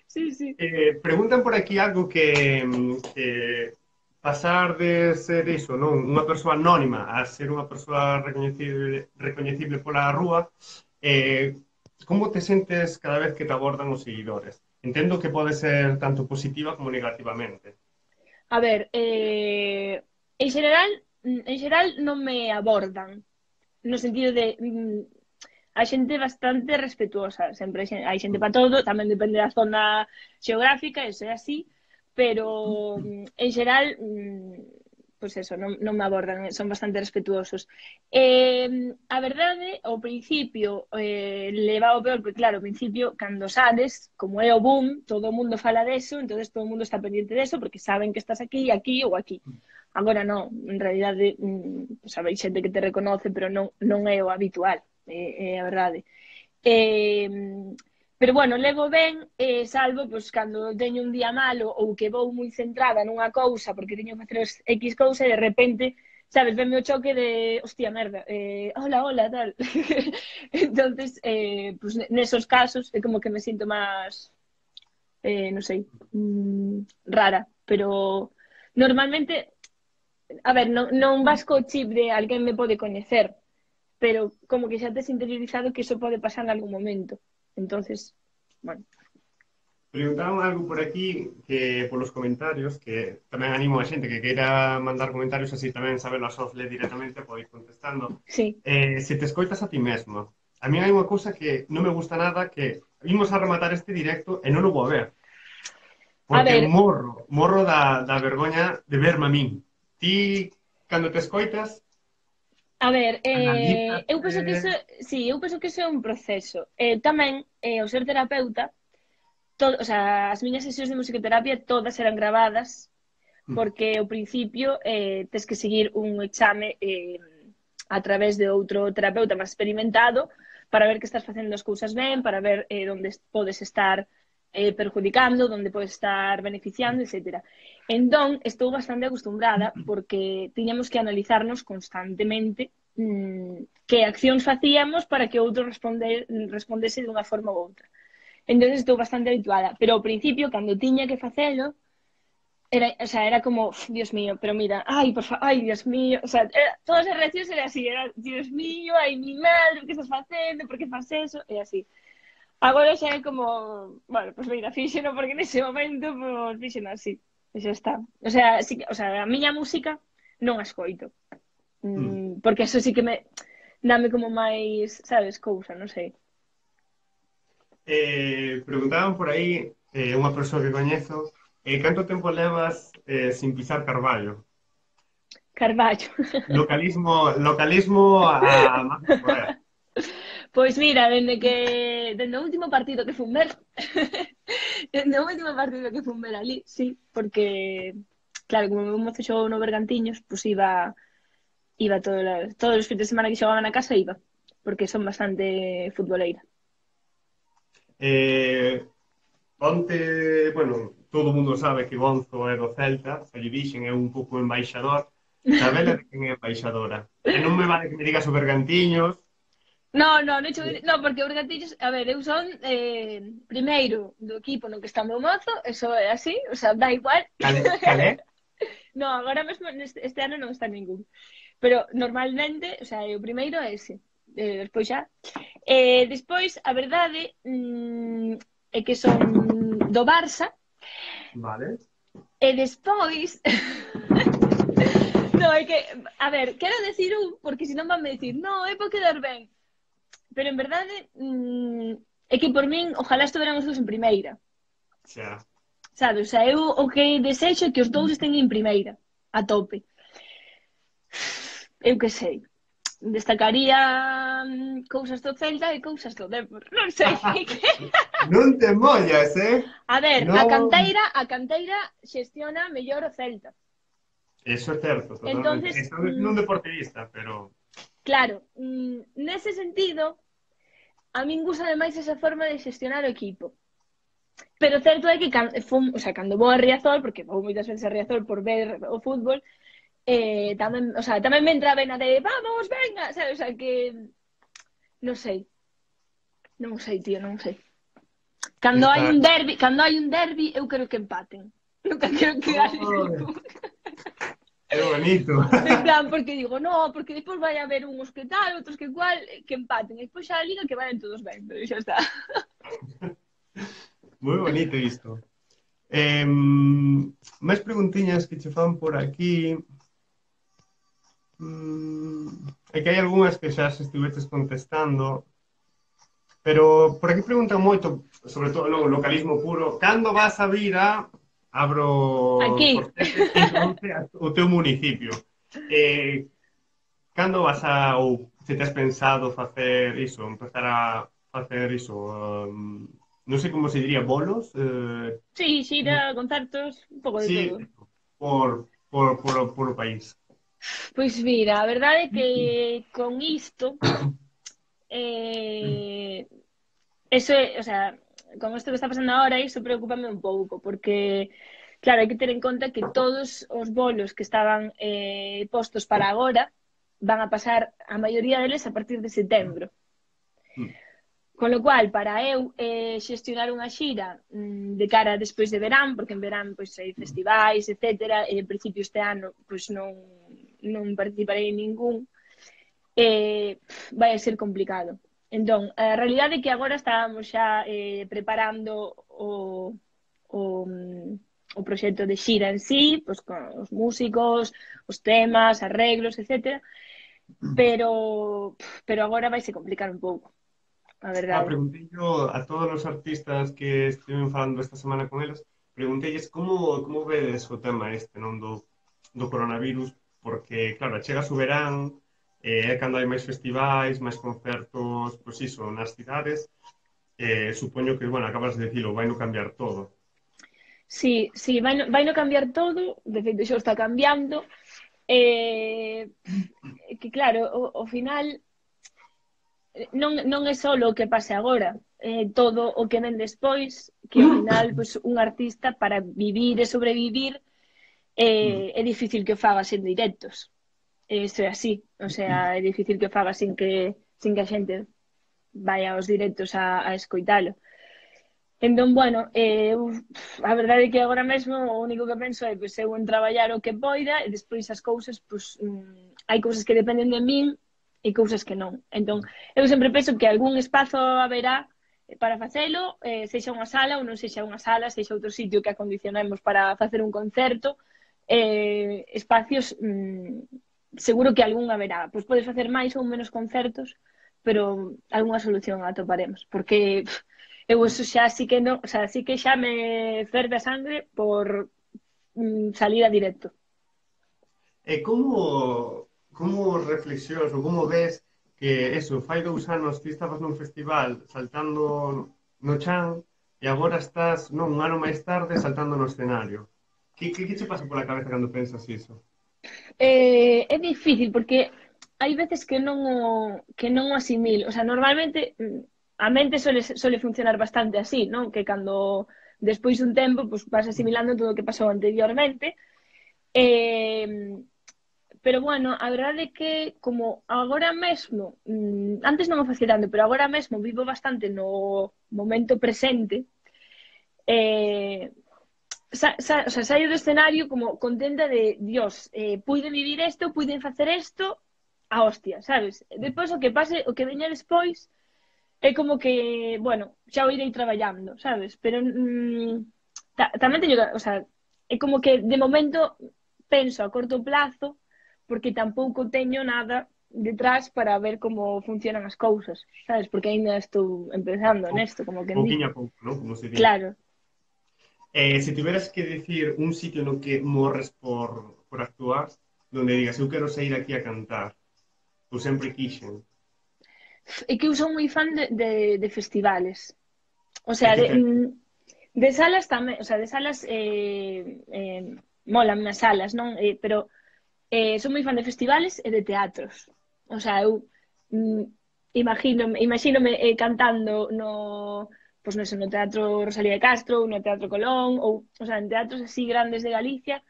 Sí, sí. Preguntan por aquí algo que pasar de ser iso, non? Unha persoa anónima a ser unha persoa recoñecible pola rúa, eh, como te sentes cada vez que te abordan os seguidores? Entendo que pode ser tanto positiva como negativamente. A ver, en xeral non me abordan, no sentido de a xente bastante respetuosa, sempre hai xente para todo, tamén depende da zona xeográfica, eso é así, pero en xeral pois eso, non me abordan, son bastante respetuosos. A verdade, ao principio leva o peor, porque claro, ao principio, cando sales, como é o boom, todo o mundo fala deso, entonces todo o mundo está pendiente deso, porque saben que estás aquí, aquí ou aquí. Agora non, en realidade, sabéis xente que te reconoce, pero non é o habitual, é a verdade. Pero bueno, levo ben, salvo pois, cando teño un día malo ou que vou moi centrada nunha cousa porque teño que facer X cousa e de repente, sabes, venme o choque de, hostia, merda, hola, hola, tal. Entonces, pues, nesos casos é como que me sinto máis, non sei, rara, pero normalmente, a ver, non vas co chip de alguén me pode coñecer, pero como que xa tes interiorizado que iso pode pasar en algún momento. Entonces, bueno. Preguntaron algo por aquí que polos comentarios, que tamén animo a xente que queira mandar comentarios así tamén sabelo a Sofle directamente, pode ir contestando. Sí. Se te escoitas a ti mesmo. A mí hai unha cousa que non me gusta nada, que imos a rematar este directo e non o vou ver. A Porque ver, morro da vergoña de verme a min. Ti, cando te escoitas, a ver, analizas... eu penso que iso, sí, eu penso que iso é un proceso. Tamén, ao ser terapeuta, o sea, as miñas sesións de musicoterapia todas eran gravadas porque ao principio tes que seguir un exame a través de outro terapeuta máis experimentado para ver que estás facendo as cousas ben, para ver onde podes estar perjudicando, onde podes estar beneficiando, etc. Entón, estou bastante acostumbrada porque tiñamos que analizarnos constantemente que accións facíamos para que outro respondese de unha forma ou outra. Entón, estou bastante habituada. Pero ao principio, cando tiña que facelo, o sea, era como, Dios mío, pero mira, ay, por favor, ay, Dios mío, o sea, todas as reaccións era así, era, Dios mío, ay, mi madre, que estás facendo, por que faz eso, e así. Agora xa é como, bueno, pues mira, fíxeno porque nese momento, pues fíxeno así, e xa está. O sea, sí, o sea, a miña música non a escoito. Mm. Porque eso sí que me dame como máis, sabes, cousa, non sei. Preguntaban por aí, unha persoa que coñezo, canto tempo levas sin pisar Carballo? Carballo. Localismo a más no poder. Pois mira, dende o último partido que fun ver, dende o último partido que fun ver ali, sí, porque claro, como o meu mozo xogou no Bergantiños, pois iba todos os fins de semana que xogaba na casa iba, porque son bastante futboleira. Eh, Onte, bueno, todo o mundo sabe que Gonzo é do Celta, se lle dixen é un pouco embaixador, sabela de quen é embaixadora. E non me vale que me digas o Bergantiños, No, no, non no, porque o Bergantiños, a ver, eu son primeiro do equipo no que está o meu mozo, eso é así, o sea, dá igual. calé, No, agora mesmo este ano non está ningún. Pero normalmente, o sea, o primeiro é ese. Despois xa. Despois, a verdade, é que son do Barça, vale, e despois... no, é que, a ver, quero decir un, porque senón van me decir, no, é por quedar ben. Pero en verdade, é que por min, ojalá estuveran os dous en primeira. xa. Sabes? O sea, eu o que desexo é que os dous estén en primeira, a tope. Eu que sei. Destacaría cousas do Celta e cousas do Depor. Non sei. Non te mollas, eh? A ver, Non. a canteira xestiona mellor o Celta. Eso é certo, totalmente. Entonces, Estou dicindo un deportista, pero... claro, nese sentido, a min gusta máis esa forma de xestionar o equipo. Pero certo é que o sea, cando vou a Riazor, porque vou moitas veces a Riazor por ver o fútbol, tamén, o sea, tamén me entra a vena de vamos, venga, sabes? O sea, que non sei, non sei, tío, non sei. Está... Cando hai un derbi, eu quero que empaten. Nunca quero que gane Oh, ningún. é bonito. En plan, porque digo, no, porque despois vai haber uns que tal, outros que cual, que empaten. E despois xa a liga que vayan todos ben, pero xa está. Moi bonito isto. Máis preguntiñas que che fan por aquí. É que hai algunhas que xa se estiveches contestando, pero por aquí preguntan moito, sobre todo no localismo puro, cando vas a vir a abro Aquí, corchetes, introduce o teu municipio? Cando vas a, ou se te has pensado facer iso, empezar a facer iso, non sei como se diría, bolos? sí, xira, concertos, un pouco de Sí, todo. por o país. Pois mira, a verdade é que con isto, eh, eso é, o sea, con isto que está pasando ahora, iso preocupame un pouco, porque, claro, hai que ter en conta que todos os bolos que estaban postos para agora van a pasar, a maioría deles, a partir de setembro. Con lo cual, para eu xestionar unha xira de cara despois de verán, porque en verán pois, hai festivais, etc. E en principio este ano pois, non participarei en ningún, vai a ser complicado. Entón, a realidade é que agora estábamos xa preparando o, o proxecto de xira en sí, pois, con os músicos, os temas, arreglos, etc. Pero agora vai se complicar un pouco, a verdade. Preguntei yo a todos os artistas que estiven falando esta semana con eles, preguntelles como vedes o tema este, non do coronavirus, porque, claro, chega o verán, é cando hai máis festivais, máis concertos, pois iso, nas cidades, supoño que, bueno, acabas de dicilo, vai no cambiar todo. Sí, sí, vai no cambiar todo, de feito xa está cambiando, que claro, ao final non é só o que pase agora, todo o que ven despois, que ao final pues, un artista para vivir e sobrevivir é difícil que o faga sen directos. Isto é así, o sea, é difícil que o faga sin que a xente vaya aos directos a escoitalo. Entón, bueno, a verdade é que agora mesmo o único que penso é pois, eu en traballar o que poida e despois as cousas, pois, hai cousas que dependen de min e cousas que non. Entón, eu sempre penso que algún espazo haberá para facelo, sexa unha sala ou non sexa unha sala, sexa outro sitio que acondicionemos para facer un concerto, espacios seguro que algún haberá. Pois podes facer máis ou menos concertos, pero algunha solución atoparemos, porque eu eso xa sí que non, o sea, sí que xa me ferve a sangre por salir a directo. E como reflexións ou como ves que eso, fai 2 anos ti estabas nun festival saltando no chan e agora estás, non, un ano máis tarde saltando no escenario? Que che pasa pola cabeza cando pensas iso? É difícil porque hai veces que non o asimilo. O sea, normalmente a mente suele funcionar bastante así, non? Que cando despois dun tempo pues, vas asimilando todo o que pasou anteriormente. Eh, pero bueno, a verdade é que como agora mesmo, antes non o facía tanto, pero agora mesmo vivo bastante no momento presente, eh, o sea, saio do escenario como contenta de Dios, puiden vivir isto, puiden facer isto a hostia, sabes? Depois o que pase, o que veña despois é como que, bueno, xa o irei traballando, sabes? Pero tamén teño, o sea, é como que de momento penso a corto plazo porque tampouco teño nada detrás para ver como funcionan as cousas, sabes? Porque aínda estou empezando nesto, como quen di. Pouquiño a pouco, non? Como se di. Claro. Se tiveras que dicir un sitio no que morres por actuar, donde digas, eu quero sair aquí a cantar, ou sempre quixen. É que eu son moi fan de festivales. O E sea, que te... de salas tamén, o sea, de salas molan as salas, non? Pero son moi fan de festivales e de teatros. O sea, eu mm, imagínome cantando pois non sei, no Teatro Rosalía de Castro, ou no Teatro Colón, ou sea, en teatros así grandes de Galicia,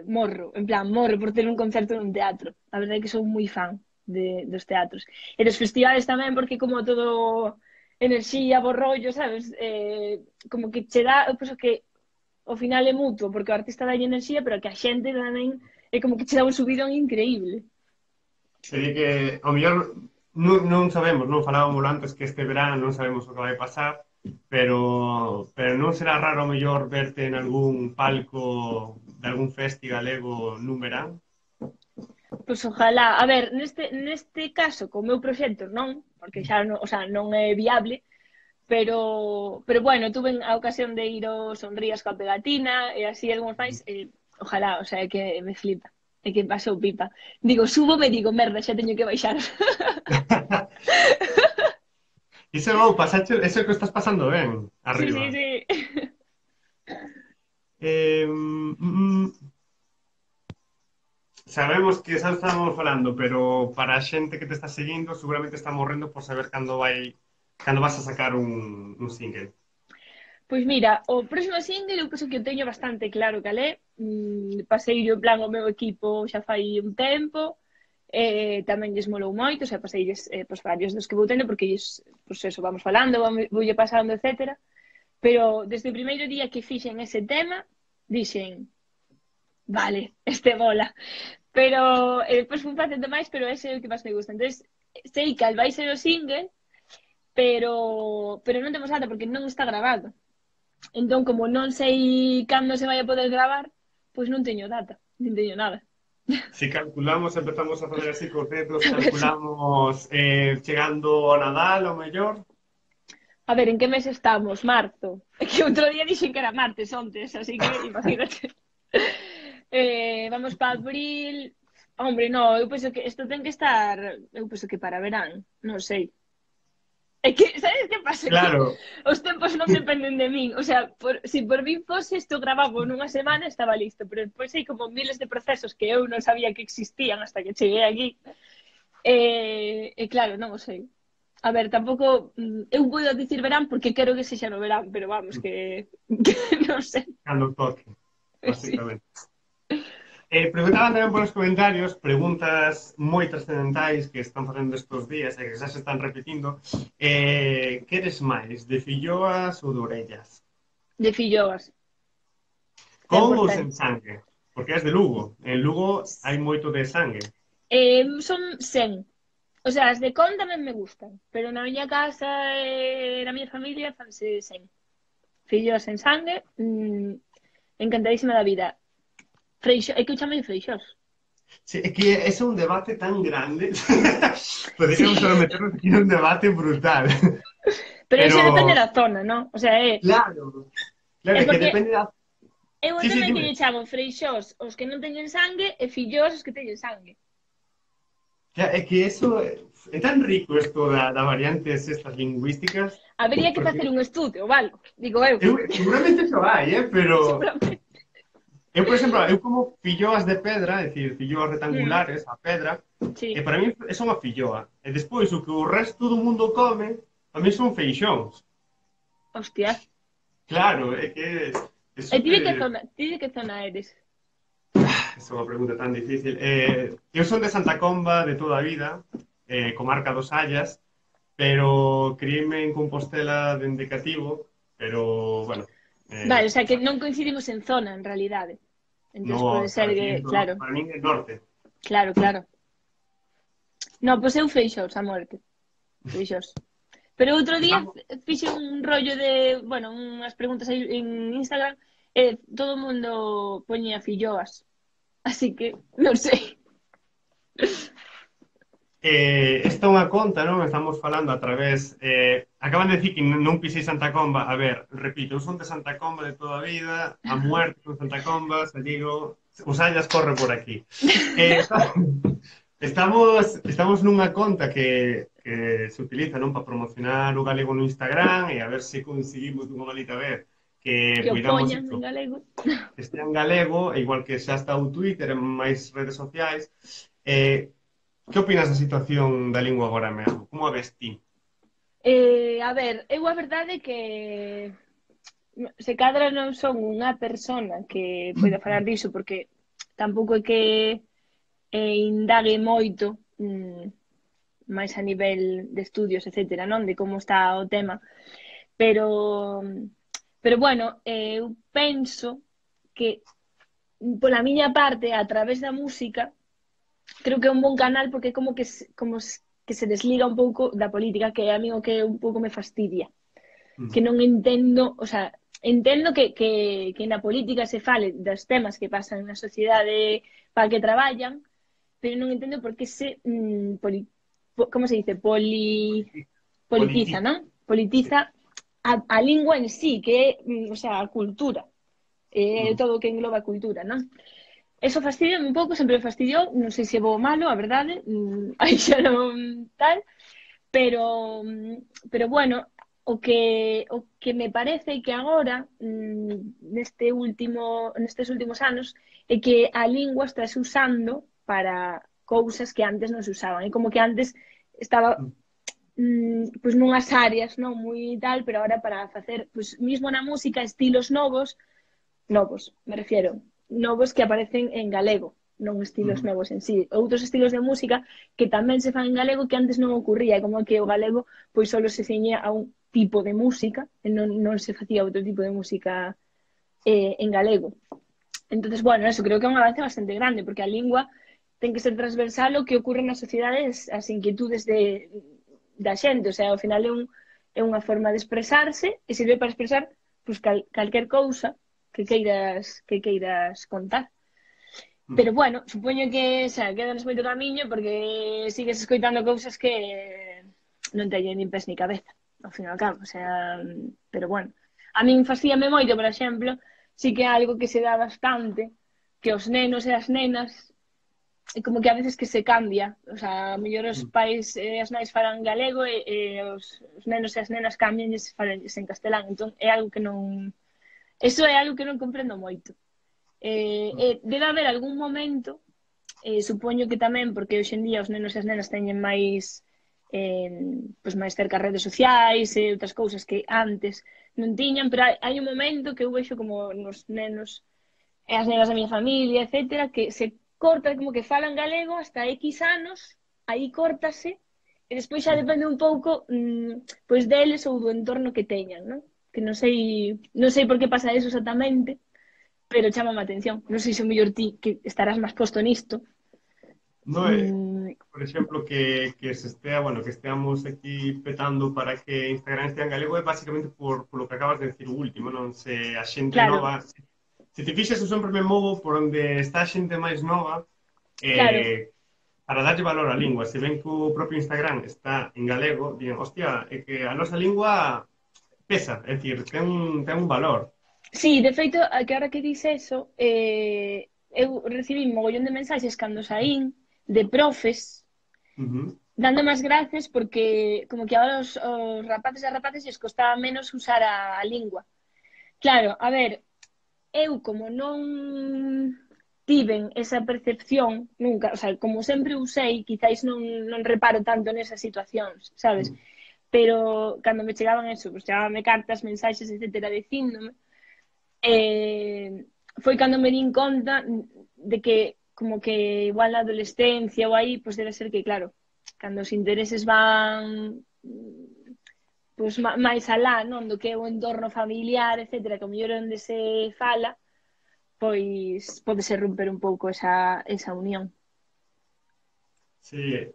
morro, en plan, morro por ter un concerto nun teatro. A verdade é que sou moi fan dos teatros. E dos festivales tamén, porque como todo enerxía, bo rollo, sabes? Como que che dá, eu penso que ao final é mutuo, porque o artista dá enerxía, pero que a xente tamén é como que che dá un subidón increíble. Sería que, ao mellor, non sabemos, non falábamos antes que este verán non sabemos o que vai pasar, pero non será raro ao mellor verte en algún palco de algún festi galego nun verán? Pois ojalá, a ver, neste caso, co meu proxecto non, porque xa non, o sea, non é viable, pero bueno, tuve a ocasión de ir ao Sonrías coa pegatina e así algúns máis, ojalá, o sea, é que me flipa, é que pasou pipa. Digo, subo me digo, merda, xa teño que baixar. Iso non, pasache, eso que estás pasando ben, Sí, arriba. sí, sí. Sabemos que xa estamos falando, pero para a xente que te está seguindo seguramente está morrendo por saber cando vas a sacar un single. Pois mira, o próximo single eu penso que o teño bastante claro cal é. Pasei en plan o meu equipo xa fai un tempo, tamén lles molou moito, o sea, paseilles pois, varios dos que vou tendo, porque pois eso, vamos falando, voulle pasando, etcétera. Pero desde o primeiro día que fixen ese tema, dixen, vale, este bola. Pero depois fui facendo máis, pero ese é o que máis me gusta. Entonces, sei cal vai ser o single, pero non temos nada porque non está grabado. Entón, como non sei cando se vai a poder gravar, pois non teño data, non teño nada. Si calculamos, empezamos a facer así cos dedos, A ver, calculamos chegando ao Nadal, ao mellor. a ver, en que mes estamos? Marzo. É que outro día dixen que era martes ontes, así que imagínate. Vamos para abril. Hombre, no, eu penso que isto ten que estar, eu penso que para verán, non sei. É que, sabes que pasa? Que Claro, os tempos non dependen de min. O sea, si por min fose, isto grababo nunha semana, estaba listo. Pero depois hai como miles de procesos que eu non sabía que existían hasta que cheguei aquí. E claro, non o sei. A ver, tampouco... Eu podo dicir verán porque quero que sexa no verán, pero vamos, que non sei. cando toque, Sí. basicamente. Preguntaban tamén polos comentarios preguntas moi trascendentais que están facendo estes días e que xa se están repetindo. Que eres máis, de filloas ou de orellas? De filloas, Con ou 100%. sen sangue? Porque és de Lugo. En Lugo hai moito de sangue. Son 100. O sea, as de con tamén me gustan, pero na miña casa e na miña familia fanse 100. Fillos en sangue, encantadísima da vida. Freixo, é que eu chamei freixos. Sí, é que ese é un debate tan grande. Poderíamos Sí, só meternos aquí nun debate brutal. pero Pero, iso depende da zona, non? O sea, claro, claro, é é que porque depende da... eu Sí, sí, tamén que dime. lle chamo freixós os que non teñen sangue e fillós os que teñen sangue. É que eso é tan rico isto da variantes estas lingüísticas, Habería que porque facer un estudio, vale? Digo eu. seguramente eso hai, pero Seguramente. eu, por exemplo, eu como filloas de pedra, é dicir, filloas Mm, rectangulares, a pedra, e sí. para mí é unha filloa. E despois o que o resto do mundo come, a mí son feixóns. Hostia. Claro, é que é E ti de super... que zona, ti de que zona eres? Esa é unha pregunta tan difícil. Eu son de Santa Comba de toda a vida, comarca dos Sallas, pero criei-me en Compostela dende cativo, pero, bueno, Vale, o sea que non coincidimos en zona, en realidade. Entón pode no, ser para ti, que, claro, para min é norte. claro, claro. No, pois eu freixós, a muerte. Freixós. Pero outro día Estamos... fixe un rollo de, bueno, unhas preguntas aí en Instagram e todo o mundo poñía filloas. Así que, non sei. Esta é unha conta, non? Estamos falando a través... acaban de decir que non pisei Santa Comba. A ver, repito, eu son de Santa Comba de toda a vida, a muerte son Santa Comba, se digo, os Allas corre por aquí. Estamos nunha conta que se utiliza, non, para promocionar o galego no Instagram e a ver se conseguimos dunha malita vez que Que o cuidamos poñan isto, en galego. que este en galego, e igual que xa está o Twitter e máis redes sociais. Eh, que opinas da situación da lingua agora mesmo? Como a ves ti? A ver, eu a verdade é que se cadra non son unha persona que poida falar diso porque tampouco é que indague moito máis a nivel de estudios, etcétera, non? De como está o tema. Pero, pero bueno, eu penso que pola miña parte, a través da música, creo que é un bon canal porque é como que que se desliga un pouco da política, que é a mí o que un pouco me fastidia. Mm. Que non entendo, o sea, entendo que na política se fale dos temas que pasan na sociedade para que traballan, pero non entendo por que se como se dice? Politiza, Politiza. non? Sí. Politiza a lingua en sí, que é, o sea, a cultura. Mm. Todo o que engloba a cultura, non? Eso fastidia un pouco, sempre me fastidiou, non sei se é bo ou malo, a verdade, aí xa non tal, pero bueno, o que me parece que agora nestes últimos anos é que a lingua está se usando para cousas que antes non se usaban. É como que antes estaba Mm. pois nunhas áreas non moi tal, pero agora para facer pois mismo na música estilos novos, me refiero, novos que aparecen en galego, non estilos Mm. novos en sí, outros estilos de música que tamén se fan en galego que antes non ocurría, como que o galego pois só se ceñía a un tipo de música e non se facía outro tipo de música en galego. Entonces, bueno, eso creo que é un avance bastante grande, porque a lingua ten que ser transversal o que ocurre nas sociedades, as inquietudes da xente, o sea, ao final é unha forma de expresarse e sirve para expresar pues, calquer cousa que queiras contar. Mm. Pero bueno, supoño que xa, quedanos moito camiño porque sigues escoitando cousas que non teñen nin pés ni cabeza, ao fin e ao cabo, o sea, pero bueno. A min fascíame moito, por exemplo, sí que é algo que se dá bastante, que os nenos e as nenas é como que a veces que se cambia, o sea, a mellor os Mm. pais e as nais falan galego os nenos e as nenas cambian e se falan en castelán, entón é algo que non... Eso é algo que non comprendo moito. Debe haber algún momento, supoño que tamén, porque hoxe en día os nenos e as nenas teñen máis pois máis cerca as redes sociais e outras cousas que antes non tiñan, pero hai un momento que eu vexo como nos nenos e as nenas da miña familia, etcétera, que se corta como que falan galego hasta X anos, aí córtase, e despois xa Mm. depende un pouco pois deles ou do entorno que teñan, non? Que non sei por que pasa eso exactamente, pero chama a atención. Non sei se o mellor ti que estarás máis posto nisto. No, Mm, por exemplo, que se estea, bueno, que esteamos aquí petando para que Instagram estea en galego é basicamente por lo que acabas de decir o último, non? Se a xente claro, nova... Se te fixas, eu sempre me movo por onde está a xente máis nova Claro. para darlle valor á lingua. Se ven que o propio Instagram está en galego, digan, hostia, é que a nosa lingua pesa, é dicir, ten un valor. Sí, de feito, a que ahora que dice eso, eu recibí un mogollón de mensaxes cando saín de profes Ujú. dando máis gracias porque como que ahora os rapaces e rapaces lles costaba menos usar a lingua. Claro, a ver, eu como non tiven esa percepción nunca, o sea, como sempre usei, quizáis non reparo tanto nesas situacións, sabes? Pero cando me chegaban eso, pues chegabanme cartas, mensaxes, etcétera, dicíndome, foi cando me din conta de que como que igual na adolescencia ou aí, pues debe ser que, claro, cando os intereses van pues, máis alá, non? Do que é o entorno familiar, etcétera, que o mellor é onde se fala, pois podese romper un pouco esa unión. Sí,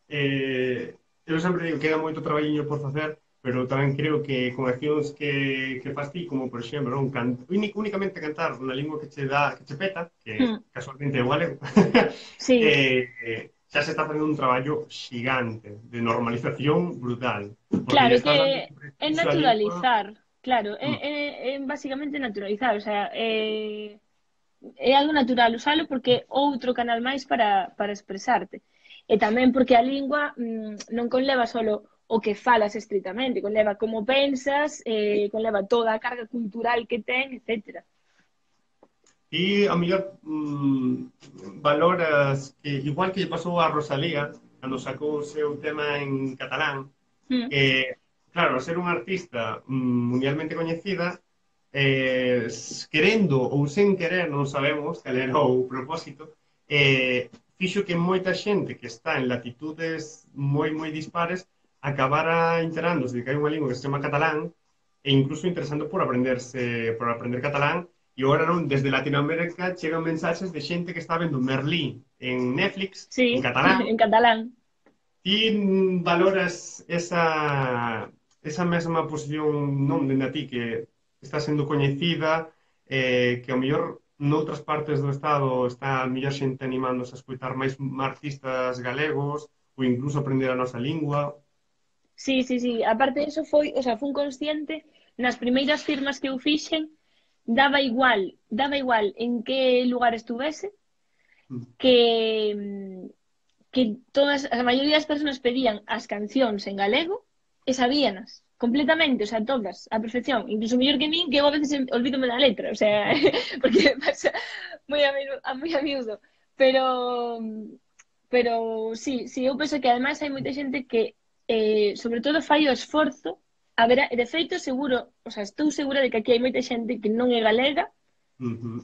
eu sempre digo que queda moito traballiño por facer, pero tamén creo que con accións que fas ti, como por exemplo, non? Únicamente cantar na lingua que che dá, que che peta, que Hmm. casualmente é o galego, Sí, xa se está facendo un traballo xigante de normalización brutal, porque claro, lle é estás dando que un é prestigio á lingua. naturalizar, claro, Mm. é basicamente naturalizar, o sea, é algo natural usalo porque é outro canal máis para expresarte. E tamén porque a lingua non conleva solo o que falas estritamente, conleva como pensas, conleva toda a carga cultural que ten, etcétera. E ao mellor valoras que, igual que lle pasou a Rosalía, cando sacou o seu tema en catalán, Mm. que, claro, ao ser unha artista mundialmente coñecida, querendo ou sen querer, non sabemos cal era o propósito, fixo que moita xente que está en latitudes moi dispares acabara enterándose de que hai unha lingua que se chama catalán e incluso interesando por aprender catalán. E agora non, desde Latinoamérica chegan mensaxes de xente que está vendo Merlí en Netflix en Sí, catalán. en catalán. Ti valoras esa mesma posición non dende a ti que está sendo coñecida, que ao mellor noutras partes do Estado está a mellor xente animándose a escutar máis artistas galegos ou incluso aprender a nosa lingua. Sí, sí, sí. Aparte eso foi, o sea, fun consciente nas primeiras firmas que eu fixen, daba igual en que lugar estuvese, Mm. que todas, a maioría das persoas pedían as cancións en galego e sabíanas completamente, o sea, todas, a perfección, incluso mellor que min, que eu a veces olvídome da letra, o sea, porque pasa moi a miúdo, pero pero sí, sí, eu penso que ademais hai moita xente que sobre todo fai o esforzo a ver, de feito seguro, o sea, estou segura de que aquí hai moita xente que non é galega Ujú.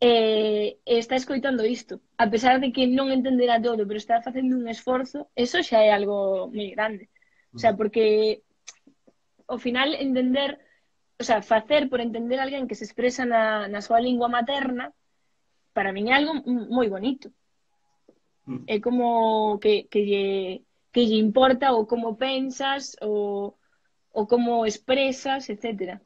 está escoitando isto, a pesar de que non entenderá todo, pero está facendo un esforzo, eso xa é algo moi grande. O sea, porque ao final entender, o sea, facer por entender a alguén que se expresa na súa lingua materna, para min é algo moi bonito. Mm. É como que lle importa o como pensas, o como expresas, etcétera.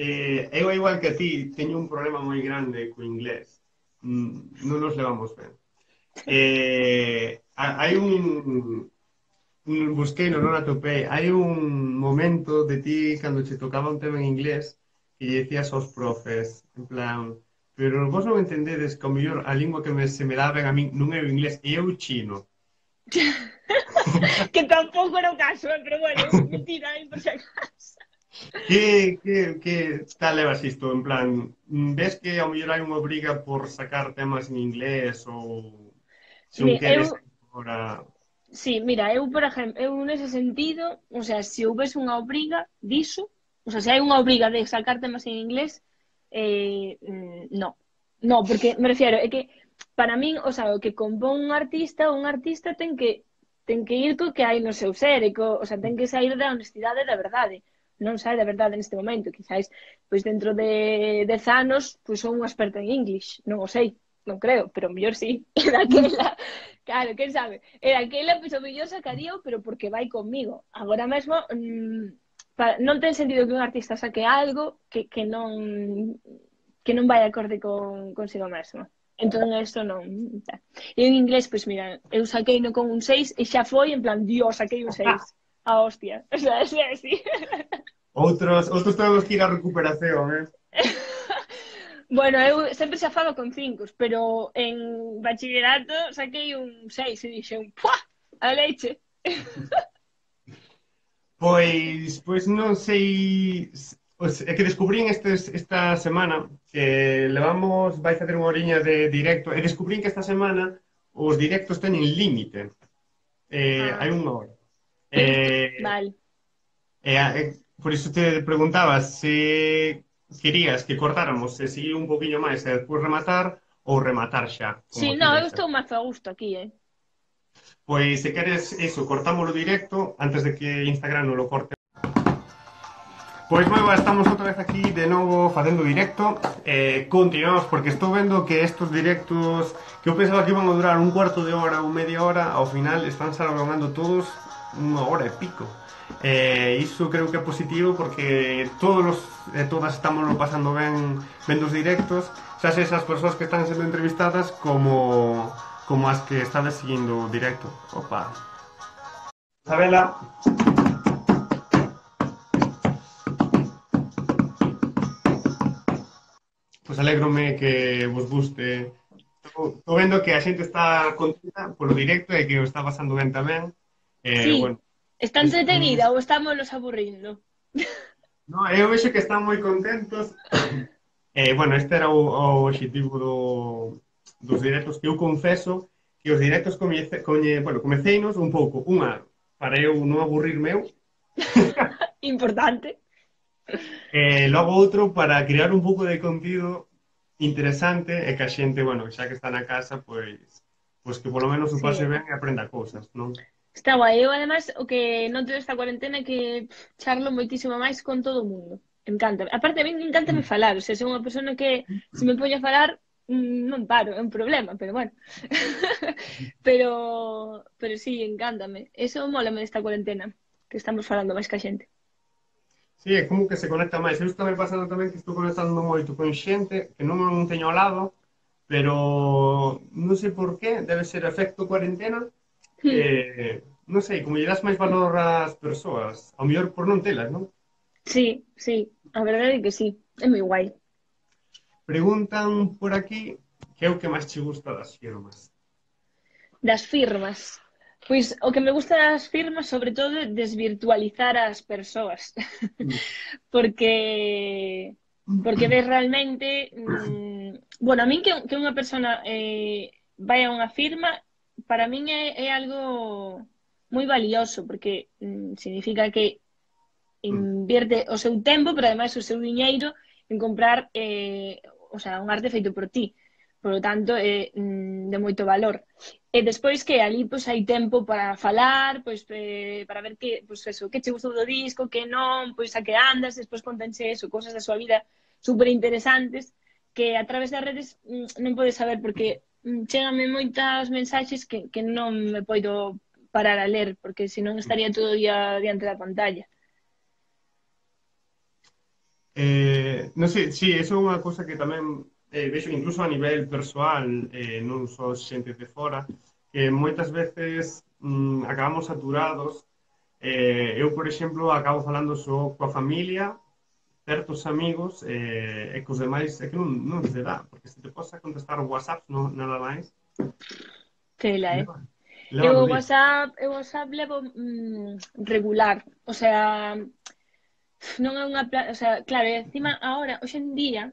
Eu, igual que a ti, teño un problema moi grande co inglés. Non nos levamos ben. Hai busquei, non atopei, hai un momento de ti cando che tocaba un tema en inglés que lle decías aos profes, en plan, pero vos non entendedes que ao mellor a lingua que se me dá ben a min non é o inglés, é o chino. Que tampouco era o caso, pero bueno, mentira, por si acaso. Que tal levas isto? En plan, ves que ao mellor hai unha obriga por sacar temas en inglés ou se un queres Eu, agora... sí, mira, eu, por exemplo, eu nese sentido, o sea, se houvese unha obriga diso, o sea, se hai unha obriga de sacar temas en inglés, no. No, porque me refiero, é que para min, o sea, o que compón un artista ten que ir co que hai no seu ser, o sea, ten que sair da honestidade e da verdade. Non sai da verdade neste momento, quizáis, pois dentro de 10 anos, pois son unha experta en English, non o sei, non creo, pero mellor sí, e daquela, claro, quen sabe, e daquela, pois o mellor sacarío, pero porque vai comigo. Agora mesmo, non ten sentido que un artista saque algo que non vai acorde consigo mesmo. Entón, isto non... E en inglés, pois mira, eu saquei no con un 6 e xa foi en plan, dios, saquei un 6. A hostia. O sea, é así. Outros temos que ir á recuperación, eh? Bueno, eu sempre xa falo con 5, pero en bachillerato saquei un 6 e dixen, ¡pua! A leche. Pois non sei... É que descubrín esta semana que levamos, vai facer unha horiña de directo, e descubrín que esta semana os directos teñen límite. Hai Ah, unha hora. Eh, vale. por iso te preguntaba se querías que cortáramos e seguir un poquinho máis e despois rematar ou rematar xa, Sí, como ti no, eu vexas. estou máis a gusto aquí, eh. Pois se queres iso, cortámoslo directo antes de que Instagram non lo corte. Pois moi boa, estamos outra vez aquí de novo facendo directo. Continuamos porque estou vendo que estos directos que eu pensaba que iban a durar un cuarto de hora ou media hora, ao final están se alongando todos unha hora e pico. Iso creo que é positivo porque todas estamos pasando ben vendo os directos, xa se esas persoas que están sendo entrevistadas como as que estades seguindo o directo. Opa. Isabela. Pois alégrome que vos guste. Estou vendo que a xente está contenta polo directo e que o está pasando ben tamén. Sí, Bueno, está entretenida ou estamos los aburrindo? no, eu vexo que están moi contentos. Bueno, este era o objetivo dos directos, que eu confeso que os directos comeceinos un pouco, unha, para eu non aburrirme eu, Importante. logo outro para crear un pouco de contido interesante e que a xente, bueno, xa que está na casa, pois que polo menos o pase Sí. ben e aprenda cousas, non? Está guai. Eu, además, o que noto desta cuarentena é que charlo moitísimo máis con todo o mundo. Encanta. Aparte, a mí encanta me falar. O sea, son unha persona que se me poño a falar non paro, é un problema, pero bueno. pero sí, encántame. Eso mólame desta cuarentena, que estamos falando máis que a xente. Sí, é como que se conecta máis. Eu estou me pasando tamén que estou conectando moito con xente que non teño ao lado, pero non sei por qué, debe ser efecto cuarentena. Non sei, como lle das máis valor ás persoas, ao mellor por non telas, non? Sí, sí, a verdade é que sí. É moi guai. Preguntan por aquí que é o que máis che gusta das firmas. Das firmas. Pois o que me gusta das firmas, sobre todo, é desvirtualizar as persoas. Porque ves realmente bueno, a min que unha persona vai a unha firma, para min é algo moi valioso, porque significa que invierte o seu tempo, pero ademais o seu diñeiro en comprar o sea, un arte feito por ti. Por lo tanto, é de moito valor. E despois que ali pois, hai tempo para falar, pois, para ver que, pois, eso, que che gustou do disco, que non, pois a que andas, despois contense eso, cosas da súa vida super interesantes que a través das redes non podes saber porque chégame moitas mensaxes que non me poido parar a ler porque senón estaría todo o día diante da pantalla. Non sei, sí, eso é unha cousa que tamén vexo incluso a nivel persoal, non só xente de fora, que moitas veces acabamos saturados. Eu, por exemplo, acabo falando só coa familia, certos amigos, e cos demais é que non se dá, porque se te posa contestar o WhatsApp, non, nada máis, Tela, leva, leva no día. Eu WhatsApp levo regular, o sea, non é unha, o sea, claro, e encima agora, hoxe en día,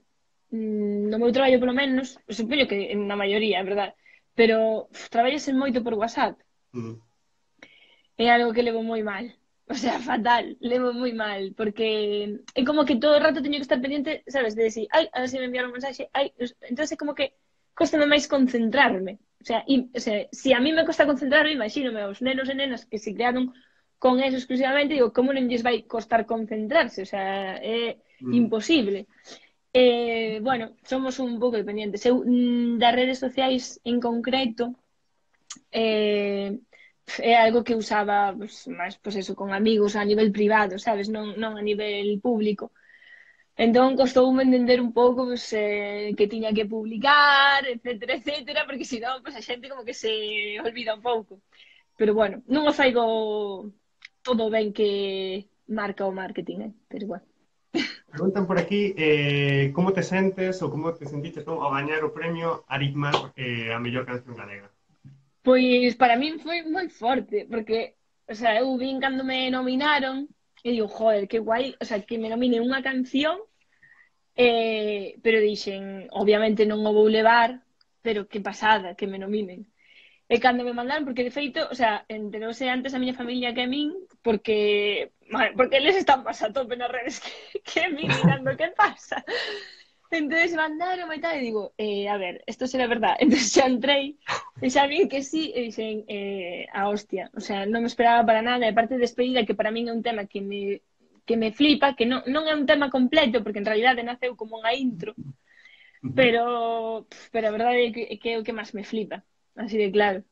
no meu traballo polo menos, supoño que na maioría, é verdade, pero traballase moito por WhatsApp, Mm. é algo que levo moi mal. O sea, fatal, levo moi mal, porque é como que todo o rato teño que estar pendiente, sabes, de decir, ai, a ver se me enviaron un mensaxe, ai, entonces é como que costame máis concentrarme. O sea, si a mí me costa concentrarme, imagínome aos nenos e nenas que se crearon con eso exclusivamente, digo, como non lles vai costar concentrarse? O sea, é Mm. imposible. Bueno, somos un pouco dependientes. Eu, das redes sociais en concreto, é algo que usaba pues, máis pues eso, con amigos a nivel privado, sabes? Non a nivel público. Entón, costoume entender un pouco pues, que tiña que publicar, etcétera, etcétera, porque senón pues, a xente como que se olvida un pouco. Pero bueno, non o faigo todo ben que marca o marketing, pero bueno. Preguntan por aquí como te sentes ou como te sentiches non, ao gañar o premio Aritmas a mellor canción galega. Pois para min foi moi forte, porque, o sea, eu vin cando me nominaron e digo, joder, que guai, o sea, que me nominen unha canción, pero dixen, obviamente non o vou levar, pero que pasada que me nominen. E cando me mandaron, porque de feito, o sea, enterouse antes a miña familia que a min, porque eles están más a tope nas redes que a min mirando que pasa. Entonces mandaron e tal, e digo, a ver, esto será verdad. Entonces xa entrei, e xa vi que sí, e dixen, a hostia, o sea, non me esperaba para nada, e parte de despedida, que para min é un tema que me flipa, que non é un tema completo, porque en realidade naceu como unha intro, pero a verdade é que é o que máis me flipa, así de claro.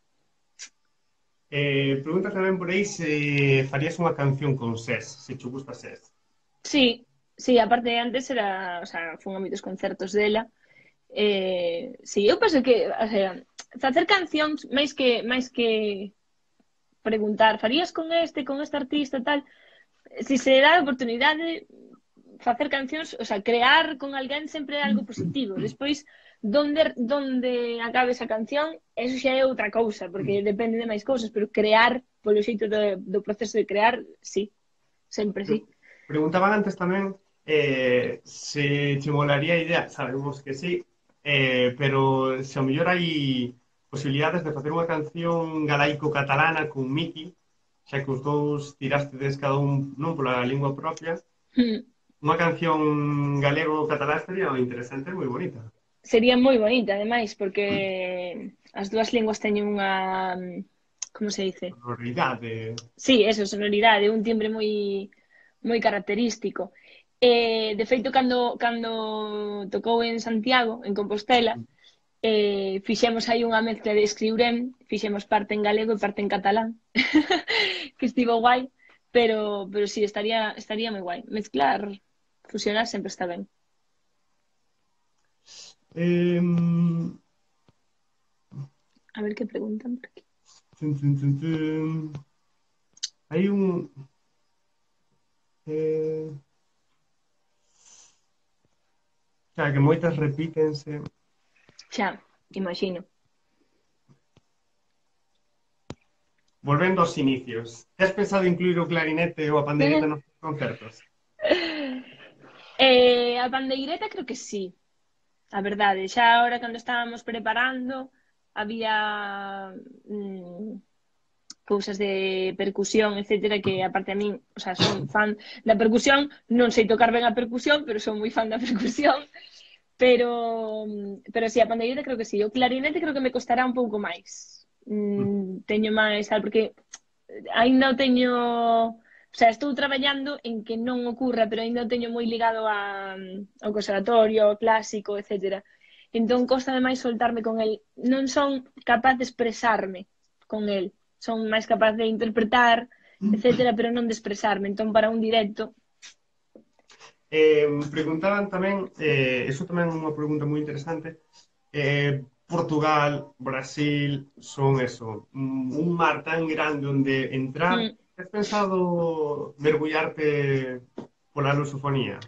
Pregunta tamén por aí se farías unha canción con SES, se che gusta SES. Sí, sí, aparte antes era, o sea, fun a moitos concertos dela. Sí, eu penso que, o sea, facer cancións máis que preguntar, farías con este artista tal, si se dá a oportunidade facer cancións, o sea, crear con alguén sempre é algo positivo. Despois, donde acabe esa canción, eso xa é outra cousa, porque depende de máis cousas, pero crear, polo xeito do proceso de crear, sí, sempre sí. Preguntaban antes tamén se che molaría a idea, sabemos que sí, pero se ao mellor hai posibilidades de facer unha canción galaico-catalana con Miki, xa que os dous tirastedes cada un non pola lingua propia, unha canción galego-catalá estaría interesante e moi bonita. Sería moi bonita, ademais, porque as dúas linguas teñen unha, como se dice? Sonoridade. Sí, eso, sonoridade, un timbre moi característico. De feito, cando tocou en Santiago, en Compostela, fixemos aí unha mezcla de escriurem, fixemos parte en galego e parte en catalán, que estivo guai, pero sí, estaría moi guai. Mezclar, fusionar sempre está ben. Em, A ver que preguntan por aquí. Hai un... Eh, xa que moitas repítense. Xa, imagino. Volvendo aos inicios, tes pensado incluir o clarinete ou a pandeireta nos concertos? A pandeireta creo que sí, a verdade. Xa ahora cando estábamos preparando había cousas de percusión, etcétera, que aparte a min, o sea, son fan da percusión, non sei tocar ben a percusión, pero son moi fan da percusión, pero si, a pandeireta creo que sí. O clarinete creo que me costará un pouco máis. Teño máis, tal, porque aínda o teño, o sea, estou traballando en que non ocurra, pero aínda o teño moi ligado ao conservatorio, ao clásico, etcétera. Entón, costa máis soltarme con el. Non son capaz de expresarme con el. Son máis capaz de interpretar, etcétera, pero non de expresarme. Entón, para un directo... Preguntaban tamén, eso tamén é unha pregunta moi interesante, Portugal, Brasil, son eso, un mar tan grande onde entrar. Has pensado mergullarte pola lusofonía?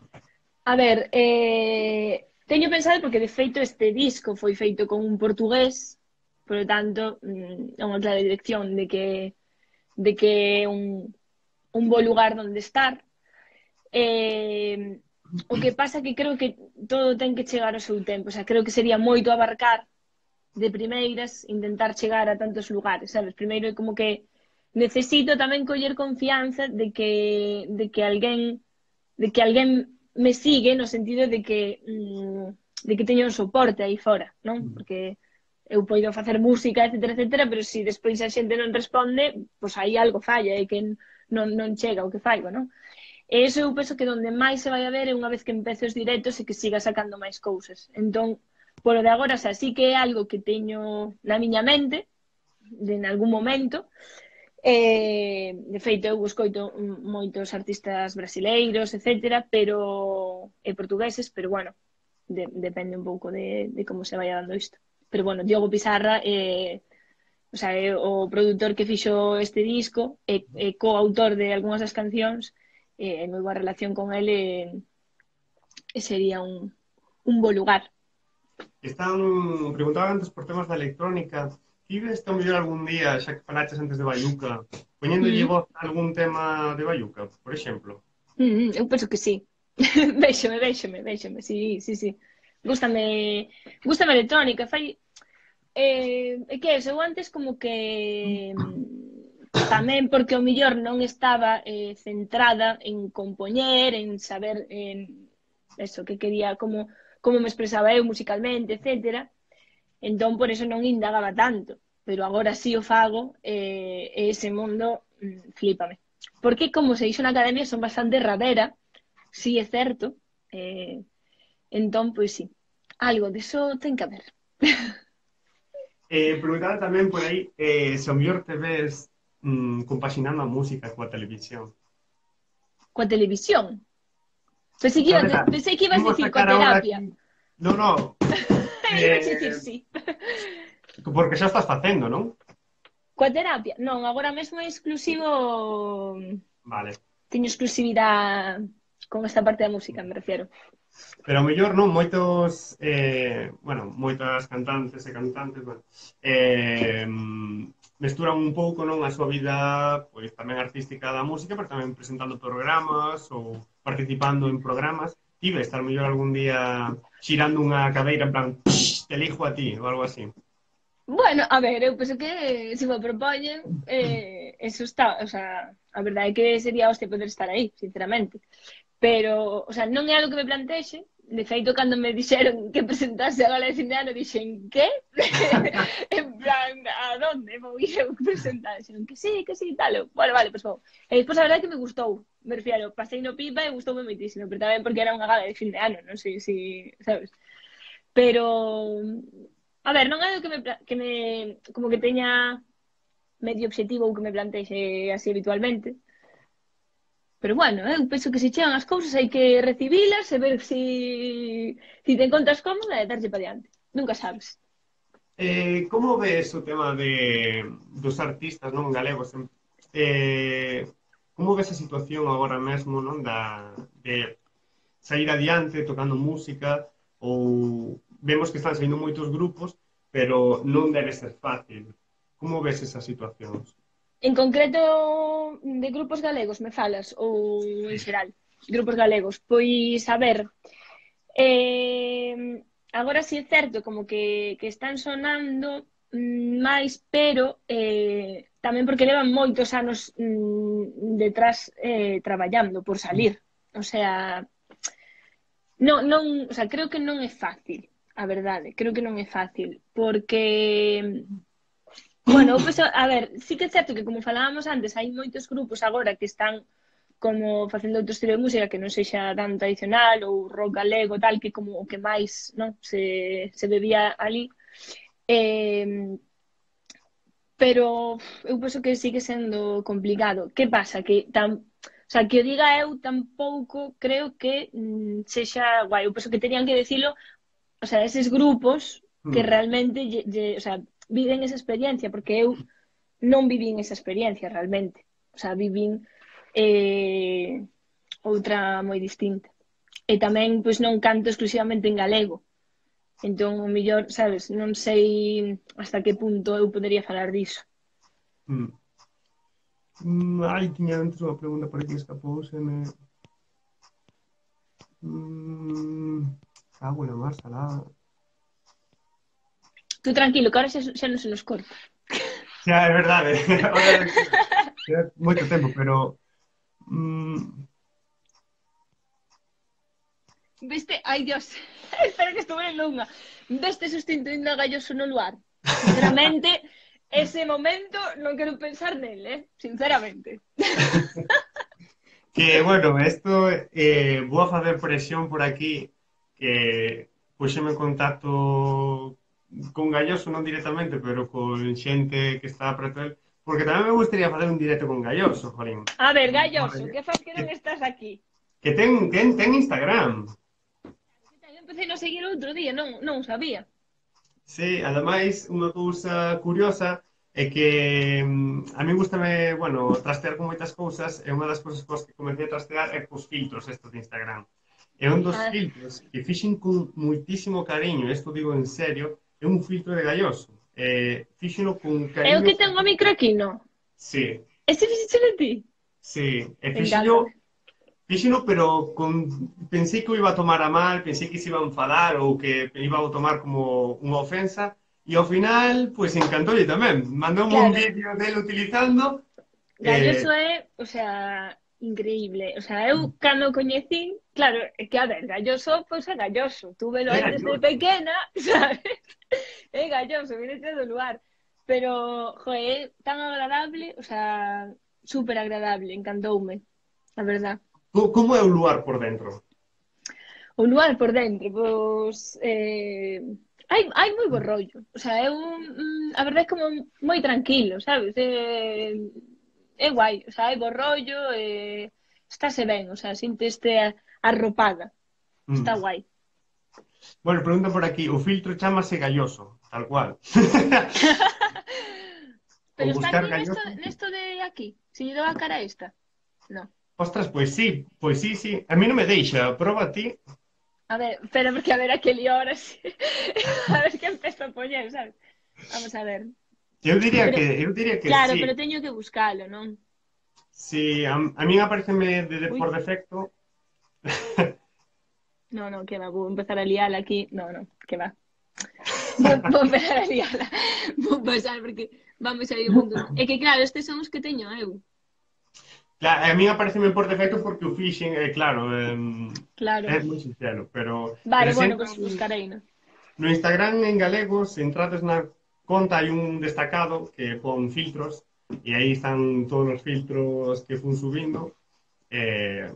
A ver, teño pensado porque de feito este disco foi feito con un portugués, por lo tanto, é unha clara dirección de que é un bo lugar onde estar. O que pasa que creo que todo ten que chegar ao seu tempo, o sea, creo que sería moito abarcar de primeiras, intentar chegar a tantos lugares, sabes? Primeiro é como que necesito tamén coller confianza de que alguén me sigue no sentido de que teño un soporte aí fora, non? Porque eu poido facer música, etcétera, etcétera, pero se despois a xente non responde, pois aí algo falla, é que non chega o que faigo, non? E iso eu penso que donde máis se vai a ver é unha vez que empece os directos e que siga sacando máis cousas. Entón, polo de agora, xa, sí que é algo que teño na miña mente, en algún momento, De feito, eu escoito moitos artistas brasileiros, etcétera, pero e portugueses, pero bueno, depende un pouco de como se vaya dando isto. Pero bueno, Diogo Pizarra o sea, é o produtor que fixo este disco e coautor de algunhas das cancións, e moi boa relación con ele, e sería un bo lugar. Están, preguntaba antes por temas da electrónica. Ti ves ao mellor algún día, xa que falaches antes de Bayuca, poñéndolle Mm, voz a algún tema de Bayuca, por exemplo? eu penso que sí. Véxome, sí, sí, sí. Gústame, gústame a electrónica, fai é que eso, eu antes como que tamén porque o millor non estaba centrada en compoñer, en saber eso, que quería, como me expresaba eu musicalmente, etcétera. Entón, por eso non indagaba tanto. Pero agora sí o fago, e ese mundo flípame. Porque, como se dixo na academia, son bastante rabera, sí é certo. Eh, entón, pois sí, algo de eso ten que haber. Preguntaba tamén por aí se ao mellor te ves compaxinando a música coa televisión. Coa televisión. Sabes, Pensei que ibas a imos dicir sacar coa agora terapia. aquí... No, no, Ibas a dicir eh, sí. porque xa estás facendo, non? Coa terapia? Non, agora mesmo é exclusivo. Vale. Teño exclusividade con esta parte da música, me refiero. Pero ao mellor non, moitos, bueno, moitas cantantes e cantantes, bueno, mesturan un pouco, non, a súa vida, pois tamén artística da música, pero tamén presentando programas ou participando en programas. Ti ves estar mellor algún día xirando unha cadeira en plan, te elijo a ti, ou algo así. Bueno, a ver, eu penso que se me propoñen, eso está, o sea, a verdade é que sería hostia poder estar aí, sinceramente. Pero, o sea, non é algo que me plantexe. De feito, cando me dixeron que presentase a gala de fin de ano, dixen, que? En plan, a donde vou ir eu presentar? Dixeron que sí, tal. Eu, bueno, vale, pois vou. E despois, a verdade é que me gustou. Me refiero, pasei no pipa e gustoume moitísimo, pero tamén porque era unha gala de fin de ano, non sei se, sabes? Pero, a ver, non é algo que me como que teña medio objetivo ou que me plantexe así habitualmente. Pero bueno, eu penso que se chegan as cousas hai que recibilas e ver si te encontras cómoda e darlle para diante. Nunca sabes. Como ves o tema dos artistas non galegos? Como ves a situación agora mesmo non de sair adiante tocando música ou vemos que están saindo moitos grupos, pero non debe ser fácil. Como ves esas situacións? En concreto de grupos galegos me falas ou en xeral? Grupos galegos. Pois, a ver, agora sí é certo como que están sonando máis, pero tamén porque levan moitos anos detrás traballando por salir. O sea, non, o sea, creo que non é fácil, a verdade, creo que non é fácil, porque, bueno, pues, a ver, sí que é certo que como falábamos antes, hai moitos grupos agora que están como facendo outro estilo de música que non sexa tan tradicional ou rock galego, tal, que como o que máis, non, se bebía ali. Pero eu penso que sigue sendo complicado. Que pasa? Que o sea, que o diga eu tampouco creo que sexa guai. Eu penso que terían que decilo, o sea, eses grupos que Hmm. realmente o sea, viven esa experiencia, porque eu non vivín esa experiencia realmente. O sea, vivín outra moi distinta. E tamén, pois, non canto exclusivamente en galego. Entón, o mellor, sabes, non sei hasta que punto eu podería falar diso. Hmm. Ai, tiña antes unha pregunta por aquí que escapouseme. Cago na mar salada. Tú tranquilo, que ahora xa non se nos corta. Xa, é verdade. Ahora queda moito tempo, pero Viste? Ai, Dios. Espera que estou vendo unha. Veste sustituindo a Galloso no luar. Sinceramente, ese momento non quero pensar nel, sinceramente. que, bueno, isto vou a facer presión por aquí que puxeme en contacto con Galloso, non directamente, pero con xente que está preto del, porque tamén me gustaría facer un directo con Galloso, Jorín. A ver, Galloso, que faz que non estás aquí? Que ten Instagram. Eu empecé a seguir outro día, non sabía. Sí, ademais, unha cousa curiosa é que a mí gustame, bueno, trastear con moitas cousas e unha das cousas cos que comecei a trastear é cos filtros estos de Instagram. E un dos Ah, filtros que fixen con moitísimo cariño, isto digo en serio, é un filtro de Galloso. Fíxeno con é o cariño. que ten o micro aquí, non? Sí, Ese fixo de ti? sí. E Me encanta. fíxeno, pero pensei que o iba a tomar a mal, pensei que se iba a enfadar ou que iba a tomar como unha ofensa, e ao final, pois encantoulle tamén. Mandoume un Claro, vídeo dele utilizando, Galloso é, o sea, increíble. O sea, eu cando o coñecín, claro, é que a ver, Galloso, pois é Galloso. Tú velo é aí desde galloso. pequena, sabes? É Galloso, viene do lugar. Pero, joe, é tan agradable, o sea, súper agradable, encantoume, a verdad. Como é o lugar por dentro? O lugar por dentro, pois, hai moi bo rollo. O sea, é a verdade é como moi tranquilo, sabes? É guai, o sea, hai bo rollo, estáse ben, o sea, sinteste arropada. Está Mm. guai. Bueno, pregunta por aquí, o filtro chamase Galloso, tal cual. Pero Ou está buscar aquí Galloso. nesto de aquí. Se lle dou a cara a esta. No. Ostras, pois sí, sí. A mí non me deixa, proba a ti. A ver, espera, porque a ver aquel hora sí. A ver que empiezo a poñer, sabes? Vamos a ver. Pero, Eu diría que claro, sí. pero teño que buscalo, non? Sí, a min apareceme Ui, por defecto. no, que va, vou empezar a liala aquí. No, que va. Vou empezar a liala. Vou pasar porque vamos a ir un mundo. É que claro, estes son os que teño eu. Claro, a min apareceme por defecto porque o fixen, claro, Claro. é moi sincero, pero Vale, bueno, sempre pois pues buscarei, no? no Instagram en galego, se entrades na conta hai un destacado que pon filtros e aí están todos os filtros que fun subindo eh,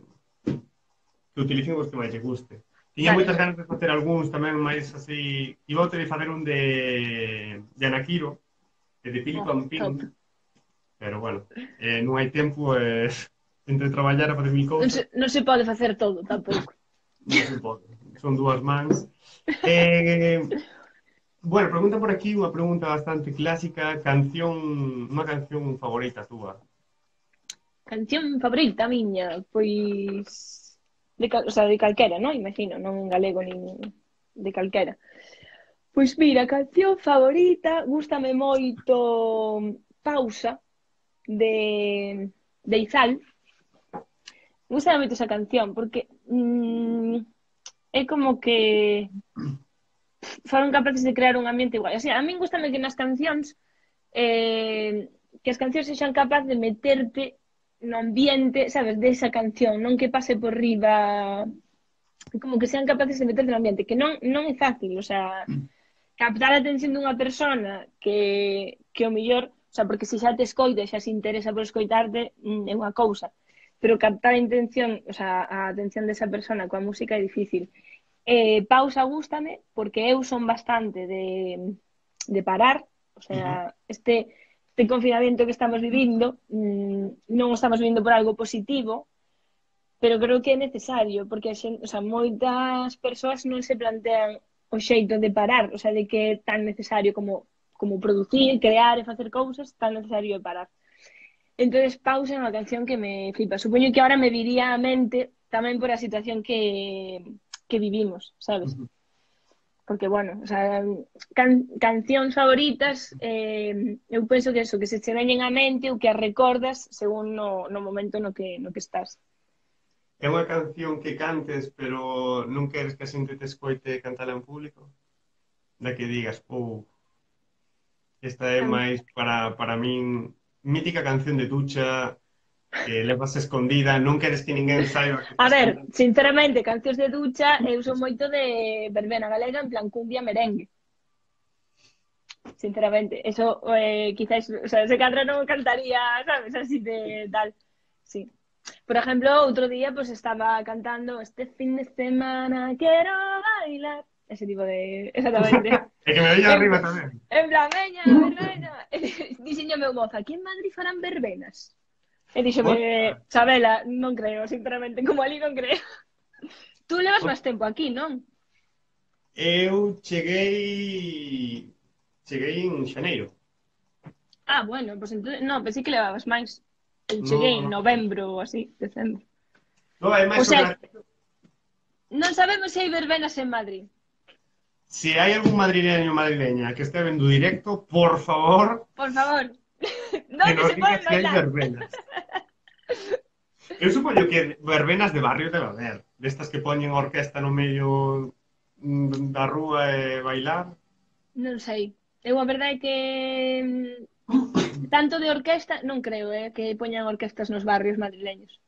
que utilicen os que máis lle guste. Tiña Vale, moitas ganas de facer algúns tamén máis así, iba a ter facer un de Anakiro e de Pili oh, Pampín, top. pero bueno, non hai tempo entre traballar a fazer mil cousas. Non se pode facer todo, tampouco. Non se pode. Son dúas mans. Eh, bueno, pregunta por aquí unha pregunta bastante clásica. Unha canción favorita túa. Canción favorita miña, pois o sea, de calquera, non? Imagino, non en galego nin de calquera. Pois mira, canción favorita, gústame moito Pausa de Izal. Gústame moito esa canción porque é como que foron capaces de crear un ambiente igual. Así, a min gustame que nas cancións que as cancións sexan capaces de meterte no ambiente, sabes, desa canción, non que pase por riba, como que sean capaces de meterte no ambiente, que non é fácil, o sea, captar a atención dunha persona que o mellor, o sea, porque se xa te escoita, xa se interesa por escoitarte, é unha cousa, pero captar a intención, o sea, a atención desa persona coa música é difícil. Pausa gústame porque eu son bastante de parar, o sea, Uh -huh. este confinamento que estamos vivindo non o estamos vivindo por algo positivo, pero creo que é necesario porque a xente, o sea, moitas persoas non se plantean o xeito de parar, o sea, de que é tan necesario como producir, crear e facer cousas, tan necesario de parar. Entonces, Pausa é unha canción que me flipa. Supoño que ahora me viría a mente tamén por a situación que vivimos, sabes? Uh -huh. Porque, bueno, o sea, cancións favoritas, eu penso que eso, que se che veñen á mente ou que as recordas según no momento no que estás. É unha canción que cantes, pero non queres que a xente te escoite cantala en público? Da que digas, esta é máis para min mítica canción de ducha que levas escondida, non queres que ninguén saiba que A estás ver, cantando. sinceramente, cancións de ducha, eu son moito de verbena galega en plan cumbia merengue. Sinceramente, eso quizás, o sea, ese cadra non cantaría, sabes, así de tal. Sí. Por ejemplo, outro día pues estaba cantando este fin de semana quiero bailar. ese tipo de... Exactamente. É que me veía En, arriba tamén. en plan, veña, verbena. Dixenlle meu mozo, aquí en Madrid farán verbenas. E díxome, Ostras, Sabela, non creo, sinceramente, como ali non creo. Tú levas máis ostras. tempo aquí, non? Eu cheguei en xaneiro. Ah, bueno, pues entonces, no, pensei que levabas máis. Eu cheguei No, en no. novembro ou así, decembro. No, é O máis o sea, gracioso. non sabemos se hai verbenas en Madrid. Se hai algún madrileño ou madrileña que este vendo directo, por favor, Por favor, que ¿dónde nos se diga poden se hai bailar? verbenas. Eu supoño que verbenas de barrio debe haber. Destas que poñen orquesta no medio da rúa e bailar. Non sei. Eu a verdade é que tanto de orquesta non creo, que poñan orquestas nos barrios madrileños.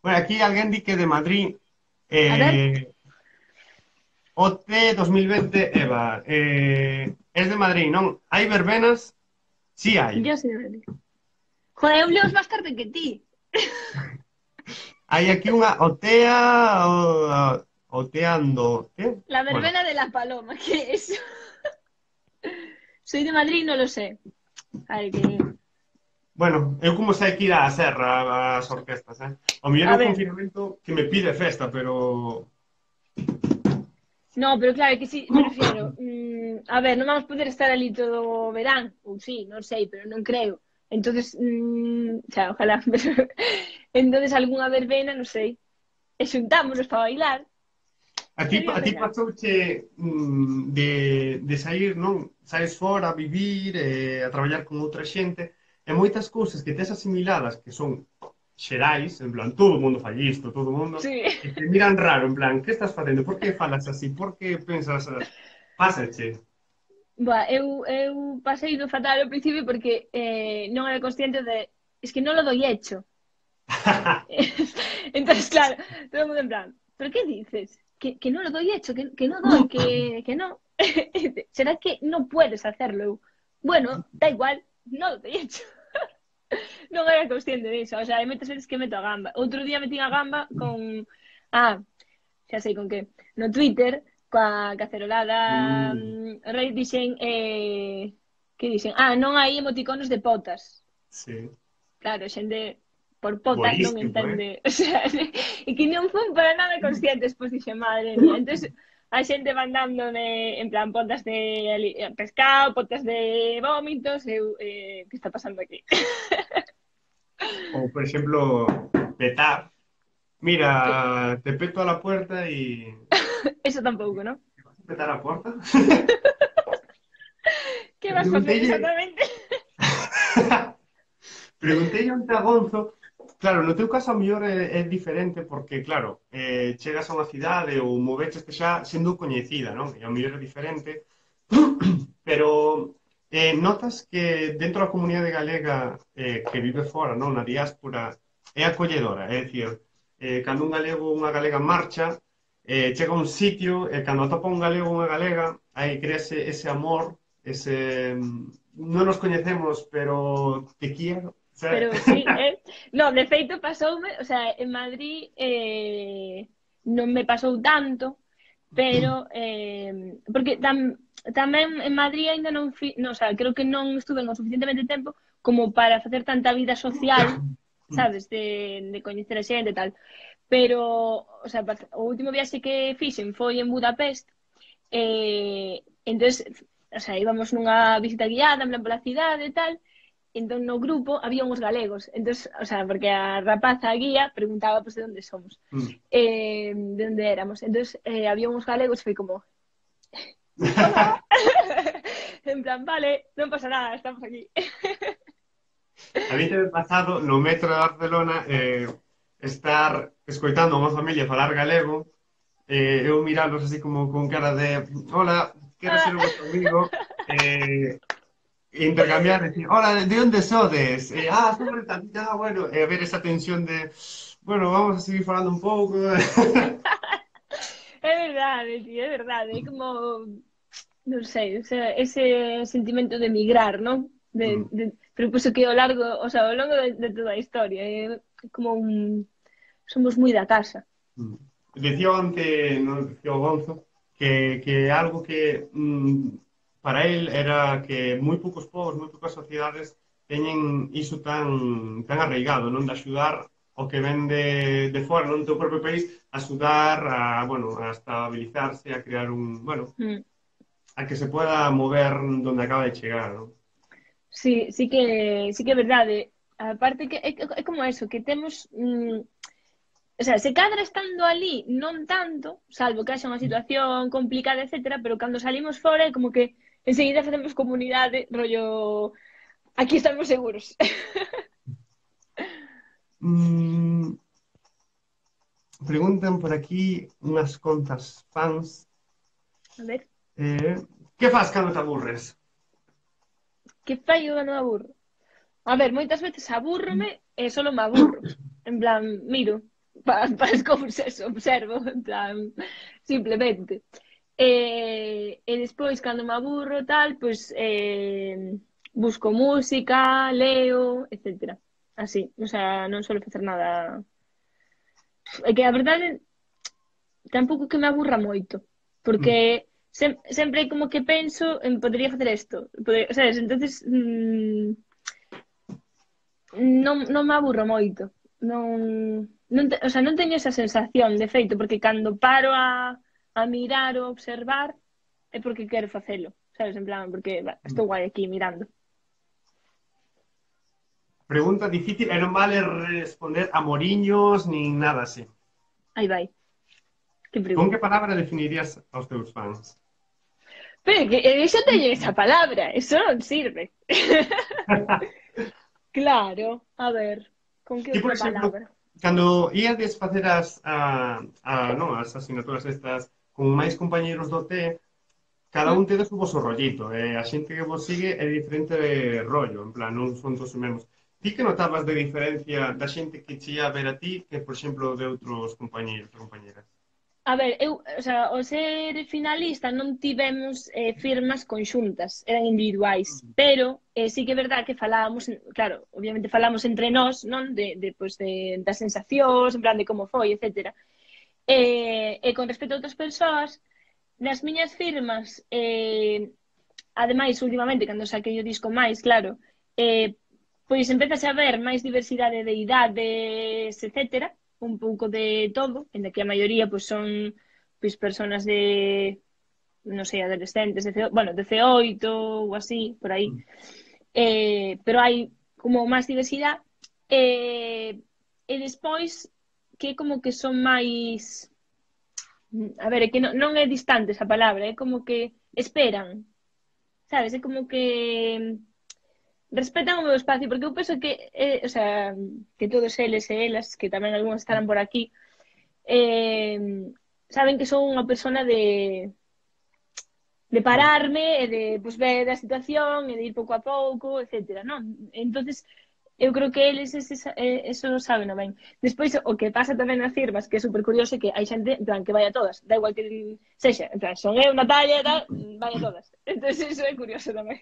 Bueno, aquí alguén di que de Madrid A ver, OT 2020, Eva, es de Madrid, non? Hai verbenas? Sí hai. yo sei de Madrid. Joder, eu leo máis tarde que ti. Hai aquí unha OTEA, OTEANDO, que? La Bueno, verbena de la paloma, ¿qué es eso? Soy de Madrid, no lo sé. A ver, que... bueno, eu como sei que ir á serra as orquestas, O mellor A é o ver, confinamento que me pide festa, pero no, pero claro, que sí, me refiero. A ver, non vamos poder estar ali todo o verán, ou sí, non sei, pero non creo. Entonces, xa, ojalá, pero... entonces algunha verbena, non sei. E xuntámonos para bailar, sería a ti genial. pasouche de sair, non? Saes fora a vivir, a traballar con outra xente, e moitas cousas que tes asimiladas que son xerais, en plan, todo o mundo fai isto, todo o mundo, Sí. e te miran raro, en plan, que estás facendo? Por que falas así? Por que pensas así? Pásache. Boa, eu pasei do fatal ao principio porque non era consciente de... Es que non lo doy hecho. Entonces, claro, todo el mundo en plan, ¿pero qué dices? Que no lo doy hecho, que no doy, que no. ¿Será que no puedes hacerlo? Bueno, da igual, no lo doy hecho. Non era consciente disso, o sea, hai moitas veces que meto a gamba. Outro día metí a gamba con... Ah, xa sei con que. No Twitter, coa cacerolada Mm, rei dixen... que dixen? Ah, non hai emoticonos de potas. sí. Claro, xente por potas non Buenísimo, entende, o sea, e que non fun para nada conscientes, pois dixe, madre mía, entonces a xente mandándome en plan potas de pescado, potas de vómitos, eu, que está pasando aquí? O, por exemplo, petar. Mira, te peto a la puerta y... Eso tampouco, non? ¿Vas a petar a la puerta? Que vas facer Preguntélle... exactamente? Preguntélle onte a Gonzo. Claro, no teu caso a mellor é diferente porque, claro, chegas a unha cidade ou movecheste xa sendo coñecida, non? E a mellor é diferente. Pero notas que dentro da comunidade galega que vive fora, non? Na diáspora, é acolledora. É dicir, cando un galego ou unha galega marcha, chega a un sitio e cando atopa un galego ou unha galega, aí crease ese amor, ese... Non nos coñecemos, pero te quiero. Pero sí, no, de feito pasoume, o sea, en Madrid non me pasou tanto, pero porque tamén en Madrid ainda non, non, o sea, creo que non estuve o suficientemente tempo como para facer tanta vida social, sabes, de coñecer a xente e tal. Pero, o sea, o último viaxe que fixen foi en Budapest, entonces, o sea, íbamos nunha visita guiada, en plan pola cidade e tal, entón no grupo había uns galegos, entonces, o sea, porque a rapaza a guía preguntaba pues de onde somos, de onde éramos, entonces había uns galegos, foi como hola, en plan, vale, non pasa nada, estamos aquí. A mí te pasado no metro de Barcelona estar escoitando a unha familia falar galego eu mirándoos así como con cara de hola, quero ser o vosso amigo intercambiar, decir, hola, ¿de dónde sodes? Somos de tal, bueno, ver esa tensión de, bueno, vamos a seguir falando un pouco. É verdade, tío, é verdade, é como non sei, o sea, ese sentimento de migrar, non? Pero pues que ao largo, o sea, ao longo de toda a historia, é como somos moi da casa. Decía onte, no, decía o Gonzo, que algo que para él era que moi poucos povos, moi poucas sociedades teñen iso tan arraigado, non? De axudar o que ven de fora, non do teu propio país, a axudar a, bueno, a estabilizarse, a crear un, bueno, Mm. a que se pueda mover donde acaba de chegar, non? Sí, sí que é verdade. Aparte que é como eso, que temos o sea, se cadra estando ali, non tanto, salvo que haxa unha situación complicada, etcétera, pero cando salimos fora é como que enseguida facemos comunidade, rollo, aquí estamos seguros. Mm, preguntan por aquí unhas contas fans. A ver, Eh, que fas cando te aburres? que fai eu cando me aburro? A ver, moitas veces abúrrome e solo me aburro. En plan, miro para as cousas, observo, en plan, simplemente. E despois, cando me aburro, tal, pois busco música, leo, etcétera. Así, o sea, non suelo facer nada. É que a verdade tampouco que me aburra moito, porque Mm, sempre hai como que penso en podería facer isto, sabes? Entonces, non me aburro moito. Non, o sea, non teño esa sensación, de feito, porque cando paro a mirar ou observar é porque quero facelo, sabes? En plan, porque mm. estou guai aquí mirando. Pregunta difícil e non vale responder a moriños nin nada así. Aí vai, que Con que pregunta. palabra definirías aos teus fans? Pero é que xa teño esa palabra, eso non sirve. Claro, a ver, con que Ti, por outra exemplo, palabra? cando íades facer non, as asignaturas estas con máis compañeiros do T, cada Hm? un tedes o vosso rollito, e a xente que vos sigue é diferente de rollo, en plan, non son todos os mesmos. Ti que notabas de diferencia da xente que che ia a ver a ti que, por exemplo, de outros compañeiros ou compañeras? A ver, o sea, ao ser finalista non tivemos firmas conxuntas, eran individuais, pero sí que é verdad que falábamos, claro, obviamente falamos entre nós, non? Pues das sensacións, en plan de como foi, etcétera. E con respecto a outras persoas, nas miñas firmas, ademais, últimamente, cando saquei o disco máis, claro, pois empezase a ver máis diversidade de idades, etcétera, un pouco de todo, en que a maioría pois son pois persoas de non sei, adolescentes, bueno, 18 ou así, por aí. Pero hai como máis diversidade e despois que como que son máis a ver, é que non é distante esa palabra, é como que esperan, sabes? É como que respetan o meu espacio, porque eu penso que, o sea, que todos eles e elas, que tamén algúns estarán por aquí, eh, saben que son unha persona de pararme e de pues, ver a situación e de ir pouco a pouco, etcétera, non? Entonces, eu creo que eles eso saben ben. Despois, o que pasa tamén nas firmas, que é super curioso, é que hai xente, en plan, que vai a todas, da igual que sexa, en plan, son eu, Natalia, tal, vai a todas. Entonces, eso é curioso tamén.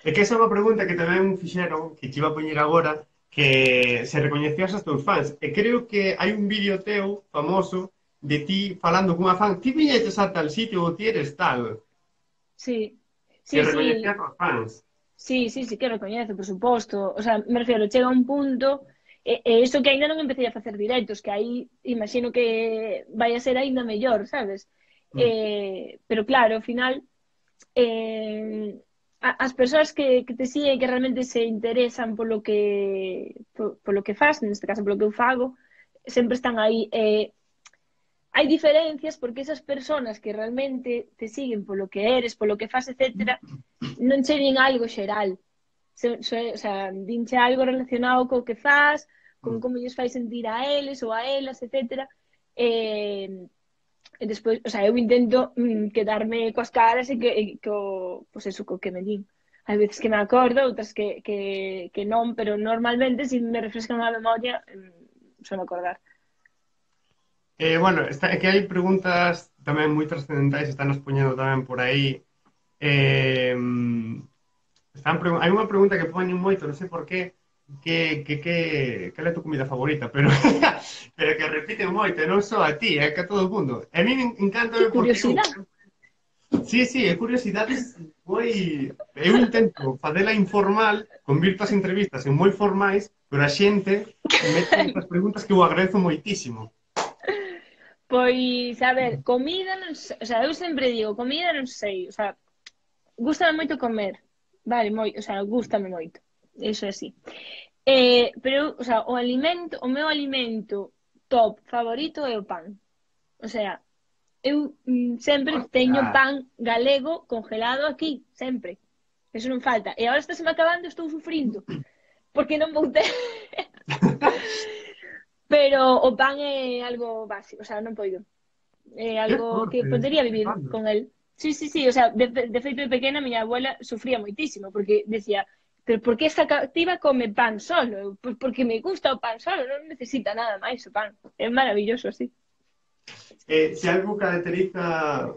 É que esa é unha pregunta que tamén fixeron, que te iba a poñer agora, que se recoñecías aos teus fans. E creo que hai un vídeo teu famoso de ti falando cunha fan, ti viñetes a tal sitio ou ti eres tal, Sí, que sí, sí, recoñecías aos fans. sí que recoñezo, por suposto. O sea, me refiero, chega un punto, eso que ainda non empecé a facer directos, que aí imagino que vai a ser aínda mellor, sabes? Mm. Pero claro, ao final, eh, as persoas que te siguen, que realmente se interesan polo que faz, neste caso polo que eu fago, sempre están aí. Hai diferencias porque esas persoas que realmente te siguen polo que eres, polo que faz, etcétera, non che din algo xeral. O sea, dinche algo relacionado co que faz, con Mm. como lles fai sentir a eles ou a elas, etcétera. E despois, o sea, eu intento quedarme coas caras pues eso, co que me din. Hai veces que me acordo, outras que non, pero normalmente, se me refrescan a memoria, suelo acordar. Bueno, é que hai preguntas tamén moi trascendentais, están nos poñendo tamén por aí. Eh, hai unha pregunta que poñen moito, non sei por qué, cal é a tua comida favorita, pero pero que repiten moito, e non só a ti, é que a todo o mundo. E a mí Que encanta porque eu curiosidade. Sí, sí, é curiosidades moi... Eu intento facela informal, convirto as entrevistas en moi formais, pero a xente mete estas preguntas que eu agradezo moitísimo. Pois, a ver, comida non sei, o sea, eu sempre digo, comida non sei, o sea, gústame moito comer, vale, o sea, gústame moito, eso é así. Pero, o sea, o meu alimento top favorito é o pan. O sea, eu sempre teño Hostia. pan galego congelado aquí, sempre. Eso non falta. E agora está se me acabando, estou sufrindo, porque non vou ter. Pero o pan é algo básico, o sea, non poido. É Que algo que sorte, estás podería vivir flipando. con el. Sí, sí, sí, o sea, de feito de pequena miña abuela sufría moitísimo, porque decía, pero por que esta cativa come pan solo? Pois porque me gusta o pan solo, non necesita nada máis o pan. É maravilloso así. Se algo caracteriza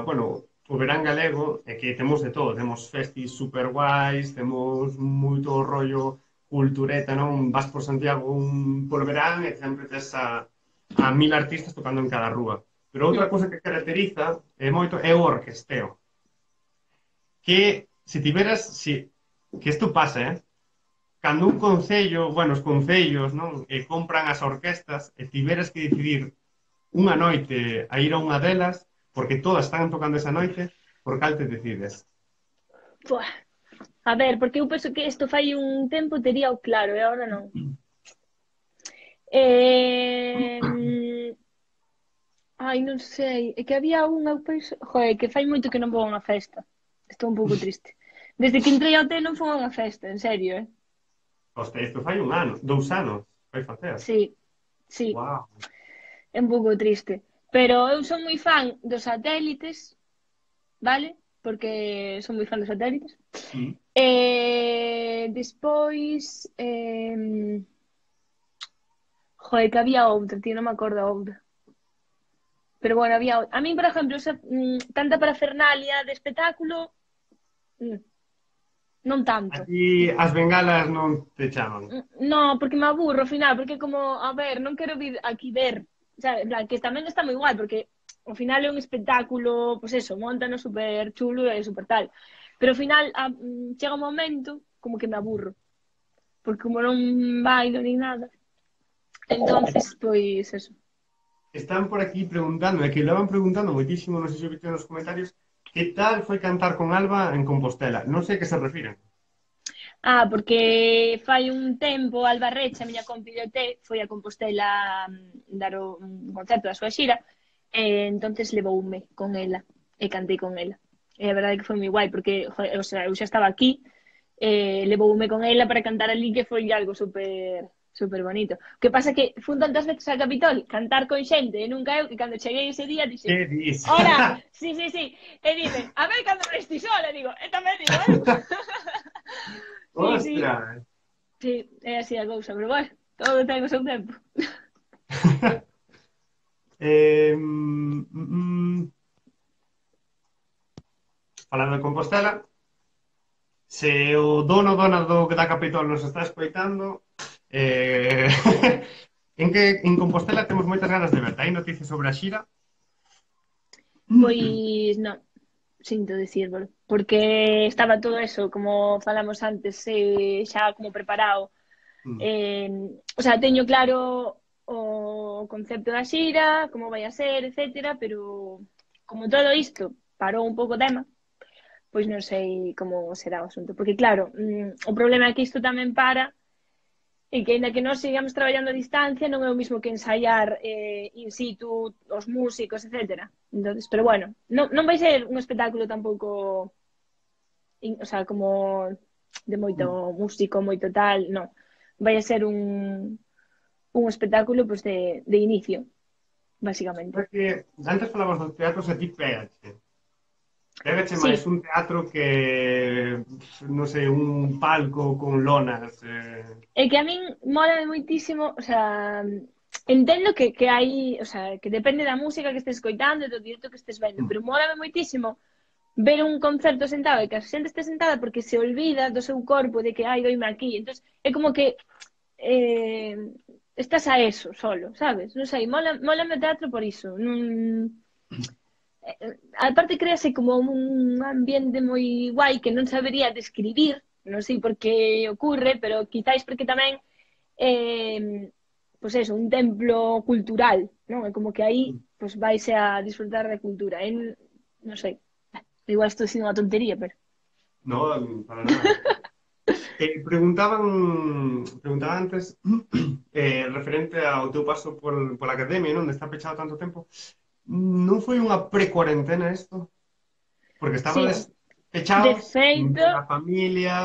bueno, o verán galego é que temos de todo, temos festis super guais, temos moito rollo cultureta, non? Vas por Santiago polo verán e sempre tes a mil artistas tocando en cada rúa. Pero outra Hmm. cosa que caracteriza moito é o orquesteo. Que se tiveras, que isto pasa, cando un concello, bueno, os concellos, non? Compran as orquestas e tiveras que decidir unha noite a ir a unha delas, porque todas están tocando esa noite, por cal te decides? Buah. A ver, porque eu penso que isto fai un tempo tería o claro e agora non. Eh... Ai, non sei. É que había unha, eu penso... Joder, que fai moito que non vou a unha festa. Estou un pouco triste. Desde que entrei ao hotel non foi a unha festa, en serio, eh? Hostia, isto fai un ano, 2 anos, vai facer. Sí, sí, Wow. é un pouco triste. Pero eu son moi fan dos satélites, vale? Porque son moi fan dos satélites. Mm. Despois... Joder, que había outra, tío, non me acordo a outra. Pero bueno, había... A mí, por exemplo, tanta parafernalia de espectáculo, mm, non tanto. A ti as bengalas non te chaman. No, porque me aburro ao final, porque como, a ver, non quero vir aquí ver, sabe, en plan, que tamén está moi igual, porque ao final é un espectáculo, pois pues eso, montano super chulo e super tal. Pero ao final chega un momento como que me aburro, porque como non bailo ni nada, entonces, pois eso. Están por aquí preguntando, é que lo van preguntando moitísimo, non sei se o viste nos comentarios, que tal foi cantar con Alba en Compostela? Non sei a que se refiren. Porque fai un tempo Alba Reche, a miña compi de OT, foi a Compostela dar un concerto da súa xira, e entonces levoume con ela, e cantei con ela. E a verdade que foi moi guai, porque, joder, o sea, eu xa estaba aquí, levoume con ela para cantar ali, que foi algo super super bonito. O que pasa que fun tantas veces a Capitol cantar con xente, e nunca eu, que cando cheguei ese día dixen, Que dis? hola, sí, sí, sí, e dime, a ver cando me estis sola, digo, e tamén digo, sí, sí, Ostras! sí, é así a cousa, pero bueno, todo ten o seu tempo. Eh, mm, mm, falando de Compostela, se o dona da Capitol nos está escoitando, eh, en Compostela temos moitas ganas de verte. Hai noticias sobre a xira? Pois non, sinto dicírvolo, porque estaba todo eso, como falamos antes, xa como preparado. Mm. O sea, teño claro o concepto da xira, como vai a ser, etcétera, pero como todo isto parou un pouco o tema, pois non sei como será o asunto. Porque claro, o problema é que isto tamén para e que ainda que nós sigamos traballando a distancia non é o mismo que ensaiar in situ os músicos, etcétera. Entonces, pero bueno, non vai ser un espectáculo tampouco, o sea, como de moito músico, moito tal, non. Vai a ser un espectáculo pues, de inicio, básicamente. Porque antes falabas dos teatros e ti pégache. Pégache Sí, máis un teatro que, non sei, un palco con lonas. é que a min mola moitísimo, o sea, entendo que hai, o sea, que depende da música que estés escoitando e do directo que estés vendo, pero mola moitísimo ver un concerto sentado e que a xente este sentada porque se olvida do seu corpo de que ai, doime aquí. Entonces, é como que eh, estás a eso solo, sabes? Non sei, mola o teatro por iso. Non, aparte créase como un ambiente moi guai que non sabería describir, non sei por que ocurre, pero quizáis porque tamén pois eso, un templo cultural, non? É como que aí pois vaise a disfrutar da cultura. Non sei, igual estou dicindo unha tontería, pero No, para nada. Preguntaba antes, referente ao teu paso pola academia, non? De estar pechado tanto tempo. Non foi unha pre-cuarentena isto? Porque sí, estabades de pechados, sin feito, ver a familia,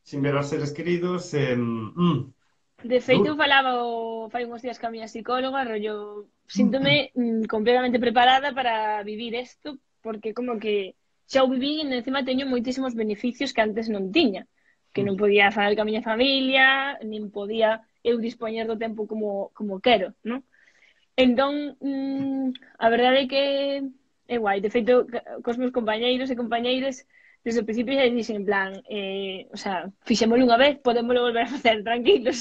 sin ver aos seres queridos. de feito Duro. eu falaba fai uns días ca miña psicóloga, rollo, síntome completamente preparada para vivir isto, porque como que xa o viví e encima teño moitísimos beneficios que antes non tiña, que non podía falar ca miña familia, nin podía eu dispoñer do tempo como quero, non? Entón, a verdade é que é guai. De feito, cos meus compañeiros e compañeiras, desde o principio xa dixen en plan, o sea, fixémolo unha vez, podémolo volver a facer tranquilos,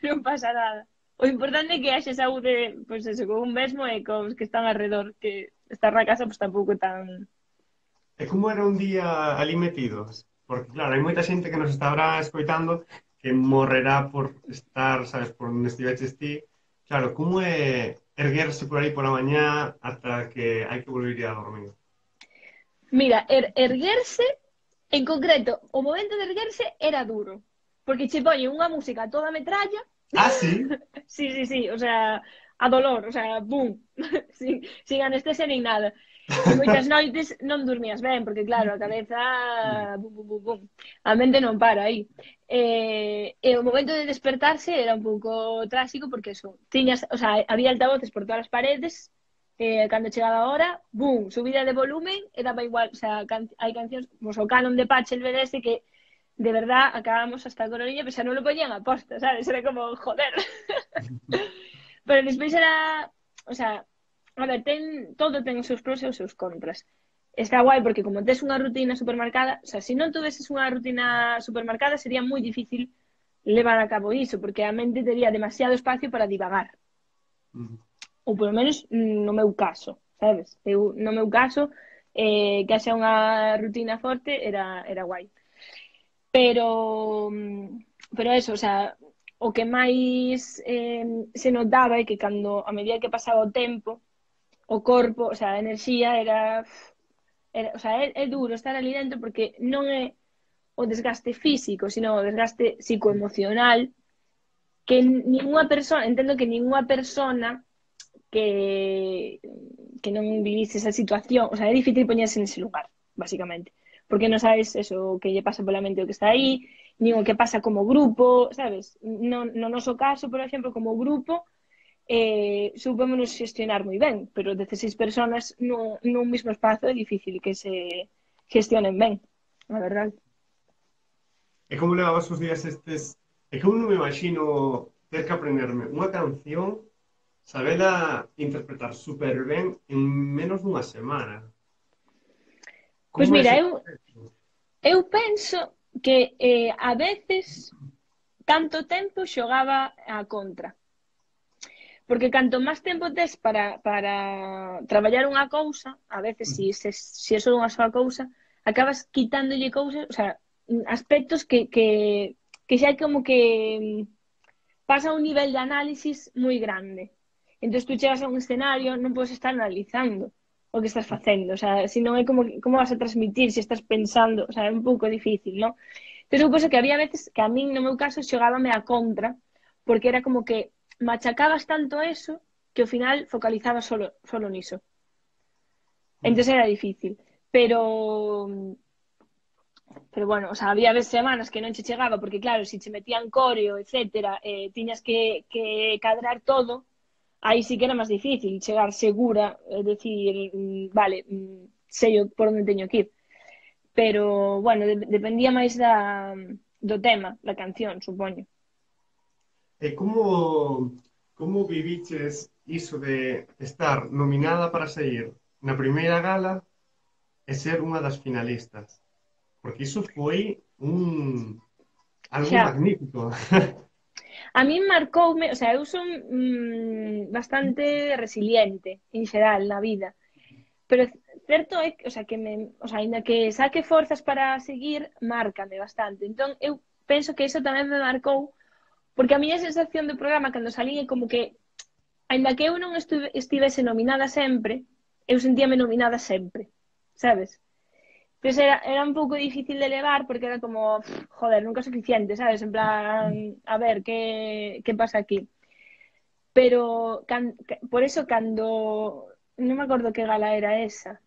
non pasa nada. O importante é que haxe saúde, pois eso, con un mesmo e cos que están alrededor, que estar na casa pois tampouco é tan... E como era un día ali metidos? Porque, claro, hai moita xente que nos estará escoitando que morrerá por estar, sabes, por onde estiveches ti. Claro, como é erguerse por aí pola mañá ata que hai que volver a dormir? Mira, erguerse, en concreto, o momento de erguerse era duro, porque che poñen unha música a toda metralla. Ah, sí? Sí, sí, sí, o sea, a dolor, o sea, boom, sin anestesia nin nada. E moitas noites non dormías ben, porque claro, a cabeza, bum, bum, bum, bum, a mente non para aí. E o momento de despertarse era un pouco tráxico, porque eso, tiñas, o sea, había altavoces por todas as paredes, cando chegaba a hora, boom, subida de volumen, e daba igual, o sea, hai cancións como o Canon de Pachelbel ese que de verdad acabamos hasta a coronilla, pero xa non lo poñían a posta, sabes? Era como, joder. Pero despois era, o sea, a ver, todo ten os seus pros e os seus contras. Está guai porque como tes unha rutina supermarcada, o sea, se non tuveses unha rutina supermarcada sería moi difícil levar a cabo iso, porque a mente tería demasiado espacio para divagar. Ou polo menos no meu caso, sabes? Eu, no meu caso, que haxa unha rutina forte era guai. Pero, pero eso, o sea, o que máis se notaba é que cando, a medida que pasaba o tempo, o corpo, o sea, a enerxía o sea, é duro estar ali dentro porque non é o desgaste físico, sino o desgaste psicoemocional que ninguna persona, entendo que ninguna persona que que non vivise esa situación, o sea, é difícil poñerse nese lugar, básicamente, porque non sabes eso que lle pasa pola mente o que está aí, nin o que pasa como grupo, sabes? No noso caso, por exemplo, como grupo, supémonos xestionar moi ben, pero 16 personas nun mismo espazo é difícil que se gestionen ben, a verdade. E como levabas os días estes? É que eu non me imagino ter que aprenderme unha canción, sabela interpretar super ben en menos dunha semana. Pois Como é mira, ese eu, proceso? eu penso que a veces tanto tempo xogaba a contra. Porque canto máis tempo tes para traballar unha cousa, a veces se é só unha soa cousa, acabas quitándolle cousas, o sea, aspectos que xa como que pasa un nivel de análisis moi grande. Entón tú chegas a un escenario, non podes estar analizando o que estás facendo, o sea, se non é como vas a transmitir se estás pensando, o sea, é un pouco difícil, non? Entón eu penso que había veces que a min, no meu caso, xogábame a contra, porque era como que machacabas tanto eso que ao final focalizabas solo niso. Entón era difícil. Pero bueno, o sea, había veces semanas que non che chegaba, porque claro, se che metían coreo, etcétera, tiñas que cadrar todo, aí sí que era máis difícil chegar segura, decir, vale, sei por onde teño que ir. Pero, bueno, dependía máis do tema, da canción, supoño. E como viviches iso de estar nominada para sair na primeira gala e ser unha das finalistas? Porque iso foi algo Xa, magnífico. a min marcoume, o sea, eu son bastante resiliente en xeral na vida. pero certo é, o sea, o sea, ainda que saque forzas para seguir, márcame bastante. Entón, eu penso que iso tamén me marcou, porque a miña sensación do programa cando salí é como que, ainda que eu non estivese nominada sempre, eu sentíame nominada sempre, sabes? Pois era un pouco difícil de levar porque era como, joder, nunca é suficiente, sabes? En plan, a ver, que pasa aquí? Pero por eso cando non me acordo que gala era esa.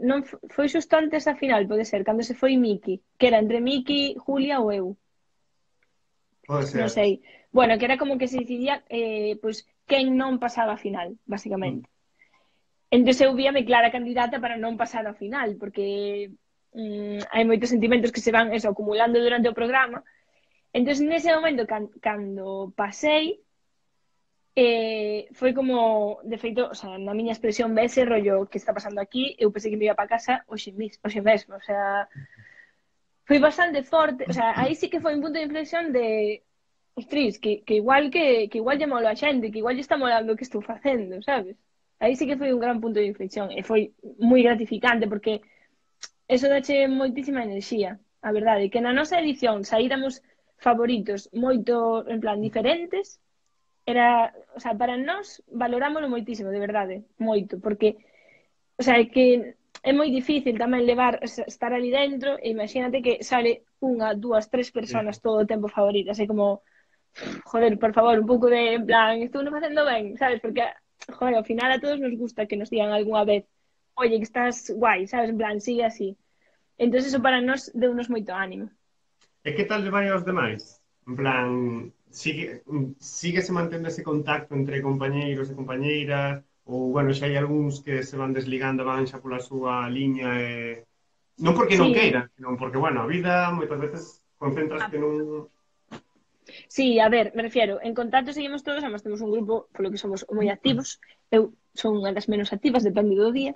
Non foi xusto antes da final, pode ser, cando se foi Miki, que era entre Miki, Julia ou eu, Pode non ser. sei. Bueno, que era como que se decidía pois quen non pasaba a final, Mm. basicamente. Entón eu víame clara candidata para non pasar a final, porque hai moitos sentimentos que se van eso, acumulando durante o programa. Entón, nese momento, cando pasei, foi como, de feito, o sea, na miña expresión vese rollo que está pasando aquí, eu pensei que me iba para casa hoxe mesmo, o sea, foi bastante forte, o sea, aí sí que foi un punto de inflexión de, ostris, que igual lle mola a xente, que igual lle está molando o que estou facendo, sabes? Aí sí que foi un gran punto de inflexión e foi moi gratificante porque eso dache moitísima enerxía, a verdade, que na nosa edición saíramos favoritos moito, en plan, diferentes, era, o sea, para nós valorámoslo moitísimo, de verdade, moito, porque, o sea, é que é moi difícil tamén levar, estar ali dentro, e imagínate que sale unha, dúas, tres Sí. personas todo o tempo favoritas, é como, joder, por favor, un pouco de, en plan, estou non facendo ben, sabes, porque, joder, ao final a todos nos gusta que nos digan algunha vez, oye, que estás guai, sabes, en plan, sigue así. Entón, eso para nós deu-nos moito ánimo. E que tal lle vai aos demais? En plan, síguese mantendo ese contacto entre compañeiros e compañeiras? Ou, bueno, xa hai algúns que se van desligando, van xa pola súa liña e... Non porque non Sí, queiran, senón porque, bueno, a vida moitas veces concéntrase nun... sí, a ver, me refiero, en contacto seguimos todos, además temos un grupo polo que somos moi activos. Eu son unha das menos activas, depende do día.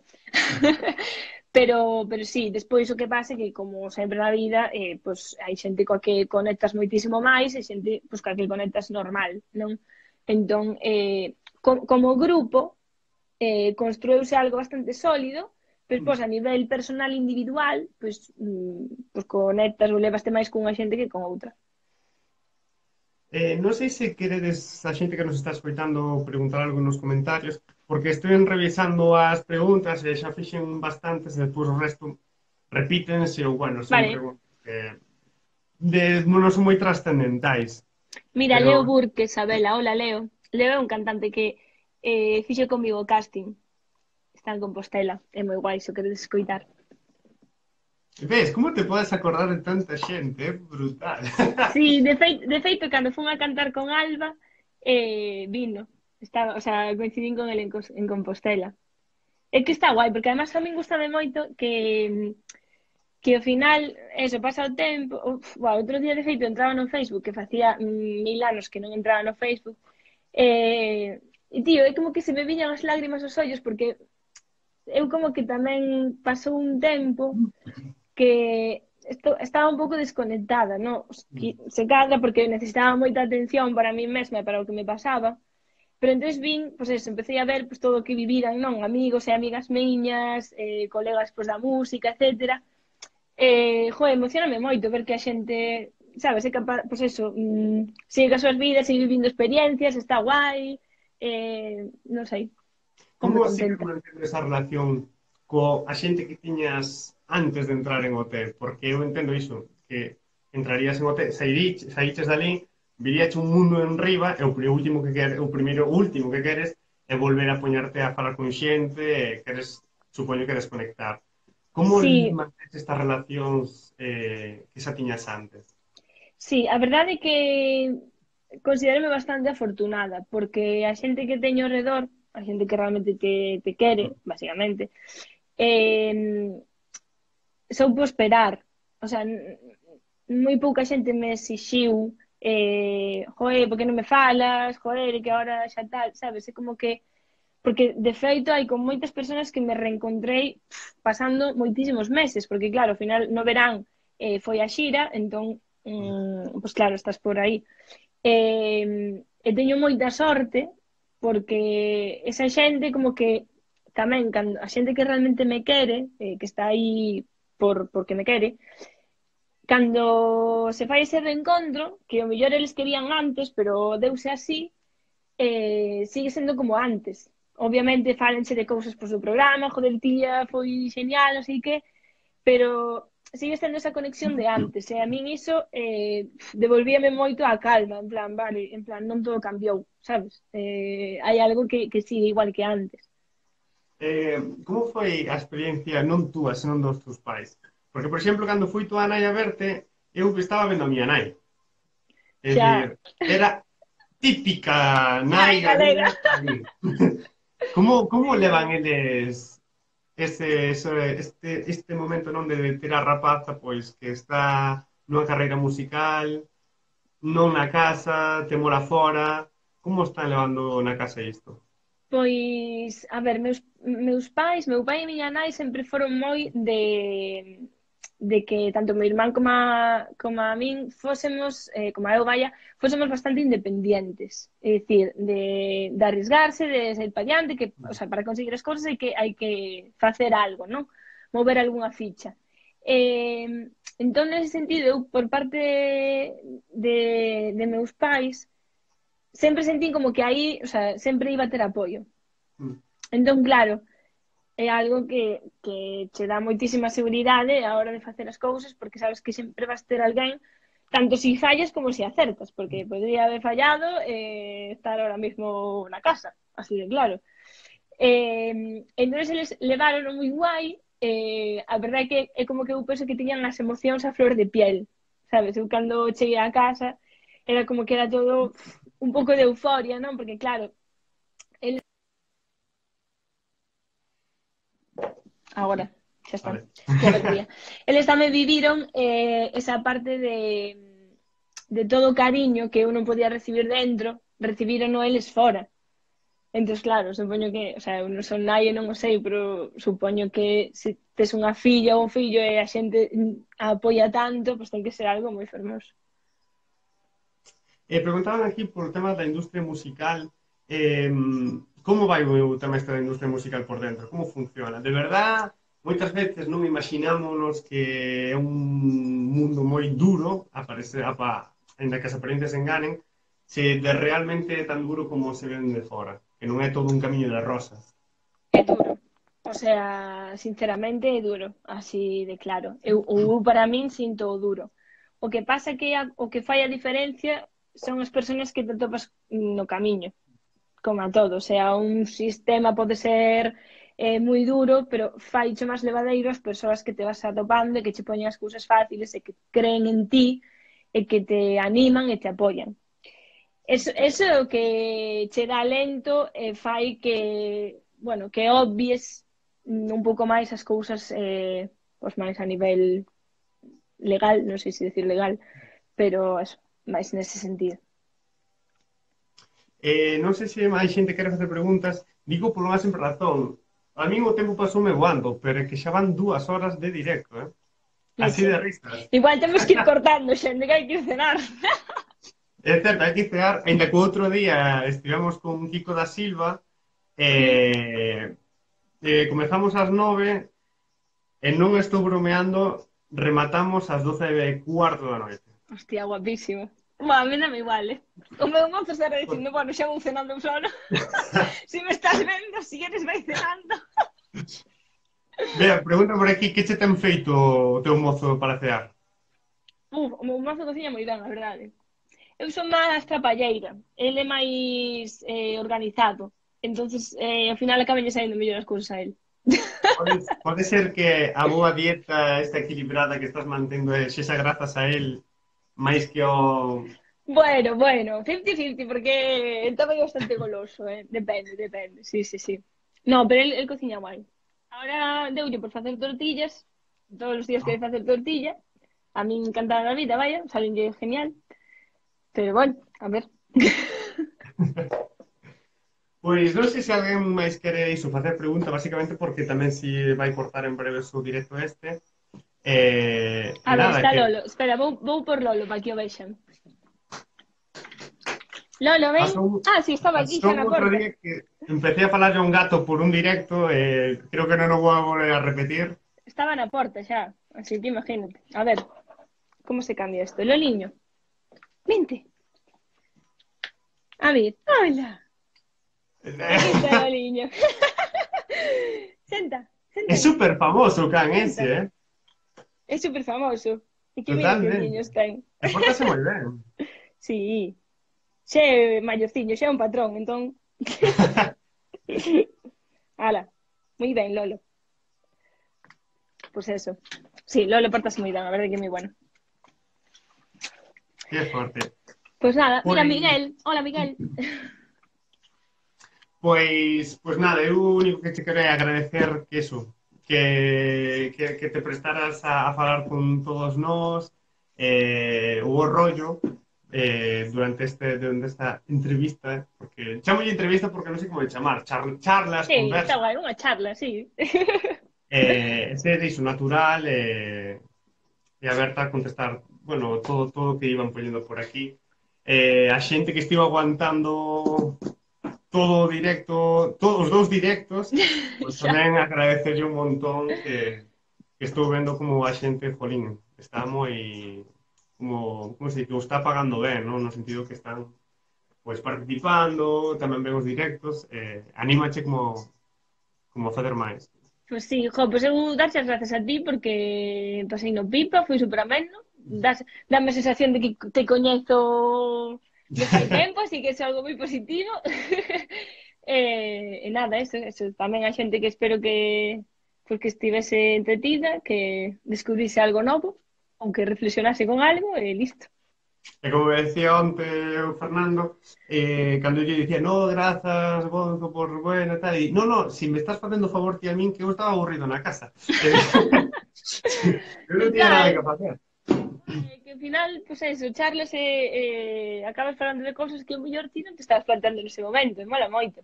pero sí, despois o que pasa é que, como sempre na vida, pues, hai xente coa que conectas moitísimo máis e xente pues, coa que conectas normal, non? Entón, como grupo, construeuse algo bastante sólido, pero pois, a nivel personal individual, pues conectas ou levaste máis cunha xente que con outra. Non sei se queredes a xente que nos está escoitando preguntar algo nos comentarios, porque estou revisando as preguntas e xa fixen bastantes e despois o resto repítense ou, bueno, son Vale, preguntas que non son moi trascendentais. mira, Pero, Leo Burke, Isabela, hola Leo. Leo é un cantante que fixe comigo casting. Está en Compostela, é moi guai, se o queredes escoitar. ves, como te podes acordar de tanta xente? É brutal. Sí, de feito, cando fun a cantar con Alba, vino. Estaba, o sea, coincidín con ele en Compostela. É que está guai, porque además a min gustame moito que ao final, eso, pasa o tempo, outro día de feito entraba no Facebook, que facía 1000 anos que non entraba no Facebook, e tío, é como que se me viñan as lágrimas aos ollos, porque eu como que tamén pasou un tempo que estaba un pouco desconectada, no? Se cadra porque necesitaba moita atención para mí mesma e para o que me pasaba, pero entonces vin, pois eso, empecé a ver pois, todo o que viviran, non? Amigos e amigas miñas, colegas pois, da música, etcétera. Joder, emocioname moito ver que a xente, sabes, é capaz, pois eso, sigue as súas vidas, sigue vivindo experiencias, está guai, non sei, Como ponme sigues contenta. mantendo esa relación a xente que tiñas antes de entrar en OT? Porque eu entendo iso, que entrarías en OT, saíches dali, viríache un mundo en riba e o último que queres, o primeiro último que queres é volver a poñerte a falar con xente e queres, supoño que desconectar. Como Sí, mantens estas relacións que xa tiñas antes? sí, a verdade é que considérome bastante afortunada, porque a xente que teño ao redor, a xente que realmente te quere, basicamente, eh, soupo esperar. O sea, moi pouca xente me exixiu joder, por que non me falas? Joder, que ahora xa tal, sabes? É como que porque de feito hai con moitas persoas que me reencontrei pasando moitísimos meses, porque claro, ao final no verán foi a xira, entón pois claro, estás por aí. E teño moita sorte porque esa xente como que tamén, cando a xente que realmente me quere, que está aí porque me quere, cando se fai ese reencontro, que o mellor eles querían antes, pero deuse así, sigue sendo como antes. Obviamente fálense de cousas pois, do programa, joder, tía, foi genial, non sei que, pero sigue sendo esa conexión de antes. E a min iso devolvíame moito a calma, en plan, vale, en plan, non todo cambiou, sabes? Hai algo que sigue igual que antes. Como foi a experiencia non túa, senón dos teus pais? Porque, por exemplo, cando fui tua nai a verte, eu estaba vendo a miña nai. É dicir, Xa, era típica nai nai galega. galega ali. Como levan eles este momento non de ter a rapaza pois que está nunha carreira musical, non na casa, temola fora, como están levando na casa isto? Pois, a ver, meus pais, meu pai e miña nai sempre foron moi de que tanto meu irmán como a min fósemos, como a eu, vaya, fósemos bastante independientes. É dicir, de arriesgarse, de ser pa diante, que, o sea, para conseguir as cousas hai que facer algo, non? Mover algunha ficha. Entón, nese sentido, eu, por parte de meus pais, sempre sentín como que aí, o sea, sempre iba a ter apoio. Mm. Entón, claro, é algo que che dá moitísima seguridade a hora de facer as cousas, porque sabes que sempre vas ter alguén, tanto si fallas como si acertas, porque podría haber fallado estar ahora mismo na casa, así de claro. Entón, eles levaron moi guai, a verdade é que é como que eu penso que tiñan as emocións a flor de piel, sabes? Eu cando cheguei a casa era como que era todo un pouco de euforia, non? Porque claro, agora, xa está, Vale. que a batería. Eles tamén viviron esa parte de todo o cariño que eu non podía recibir dentro, recibiron eles fora. Entón, claro, supoño que, o sea, eu non son nai e non o sei, pero supoño que se tes unha filla ou un fillo e a xente a apoia tanto, pois ten que ser algo moi fermoso. Preguntaban aquí por o tema da industria musical, eh, como vai o tema este da industria musical por dentro? Como funciona? De verdad, moitas veces non imaginámonos que é un mundo moi duro, ainda que as apariencias enganen, se de realmente é tan duro como se ven de fora, que non é todo un camiño de rosas. É duro. O sea, sinceramente é duro, así de claro. Eu para min sinto o duro. O que pasa é que o que fai a diferencia son as persoas que te topas no camiño, como a todo. O sea, un sistema pode ser moi duro, pero fai cho máis levadeiro as persoas que te vas atopando e que che poñen as cousas fáciles e que creen en ti e que te animan e te apoian. Eso é o que che dá lento e fai que, bueno, que obvies un pouco máis as cousas pois máis a nivel legal, non sei se decir legal, pero eso, máis nese sentido. Non sei se máis xente quere facer preguntas, digo por unha sempre razón. A min o tempo pasoume voando, pero é que xa van 2 horas de directo, eh? Así Leche. de risas. Igual temos que ir cortando, xente, que hai que ir cenar. É certo, hai que cear, ainda que o outro día estivemos con Kiko da Silva, comezamos ás 9 e non estou bromeando, rematamos ás 12:15 da noite. Hostia, guapísimo. Bueno, a mí non me igual, O meu mozo estará dicindo, bueno, xa vou cenando eu solo. Si me estás vendo, si eres vai cenando. Vea, pregunta por aquí, que che ten feito o teu mozo para cear? O meu mozo cociña moi ben, a verdade. Eu son máis trapalleira, ele é máis organizado. Entonces, ao final acaban saindo mellor as cousas a él. Pode ser que a boa dieta esta equilibrada que estás mantendo sexa grazas a él máis que o... Bueno, 50-50, porque el tamén é bastante goloso, depende, sí. No, pero el cociña guai. Ahora deulle por facer tortillas, todos os días quere facer tortilla, a min encanta a vida, vaya, salenlle genial, pero bueno, a ver. Pois non sei se alguén máis quere iso, facer pregunta, basicamente porque tamén si vai cortar en breve o seu directo este. A ver, Nada, está que... Lolo. Espera, vou por Lolo para que o vexan. Lolo, ven. Pasou, Ah, sí, estaba aquí pasou xa na outro porta. día que empecé a falarle a un gato por un directo e creo que non o vou a volver a repetir. Estaba na porta xa, así que imagínate. A ver, como se cambia isto? Loliño, vente. A ver, hola. Aquí está Loliño. Senta, senta É aí, super famoso o can ese, senta. eh? É super famoso. E que mira que Totalmente. niños ten. E pórtase moi ben. Sí, xe é maiorciño, xe é un patrón, entón... Ala, moi ben, Lolo. Pues eso. Sí, Lolo portase moi ben, a verdade que é moi bueno. Que forte. Pues nada, mira Pois, Miguel. Hola Miguel. pois nada, eu o único que te quero é agradecer que eso, que te prestaras a falar con todos nós, o rollo, durante esta entrevista, porque chamo entrevista porque non sei como de chamar, charlas, Sí, está conversas, guai, unha charla, sí. ser iso natural, e aberta a contestar, bueno, todo o que iban poñendo por aquí. A xente que estivo aguantando todo o directo, todos os dous directos, pois Xa. tamén agradecerlle un montón que estou vendo como a xente, jolín, está moi, como se dice, que o está pagando ben, non? No sentido que están pois participando, tamén ven os directos, anímache como a facer máis. Pues sí, jo, pues eu darche as gracias a ti porque pasei no pipa, foi super ameno. Dame a sensación de que te coñezo de fai tempo, así que é algo moi positivo. E nada, eso. Tamén a xente que espero que pues que estivese entretida, que descubrise algo novo, ou que reflexionase con algo e listo. E como me decía onte o Fernando, cando yo dicía, no, grazas, Gonzo, por bueno e tal, e no, no, si me estás facendo favor ti a min que eu estaba aburrido na casa. Eu non tiña nada Total, que facer. que ao final, pues eso, charlas e acabas falando de cousas que o mellor ti non te estás planteando nese momento, e mola moito.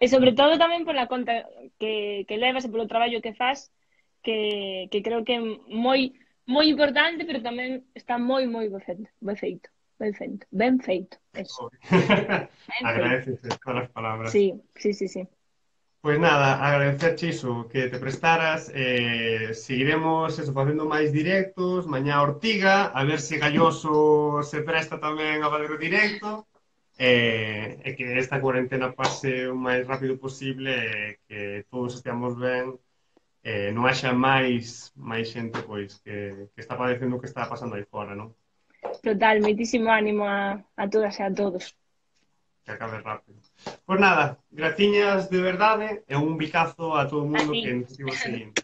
E sobre todo tamén pola conta que levas e polo traballo que faz, que creo que é moi importante, pero tamén está moi ben feito, ben feito, eso, ben feito. Agradeces todas as palabras. Sí. Pois nada, agradecerche iso, que te prestaras, seguiremos eso, facendo máis directos, mañá Ortiga, a ver se Galloso se presta tamén a fazer o directo, e que esta cuarentena pase o máis rápido posible e que todos esteamos ben, non haxa máis xente pois que está padecendo o que está pasando aí fora, non? Total, moitísimo ánimo a todas e a todos. Que acabe rápido. Pois nada, graciñas de verdade e un bicazo a todo o A mundo ti. que nos estivo seguindo.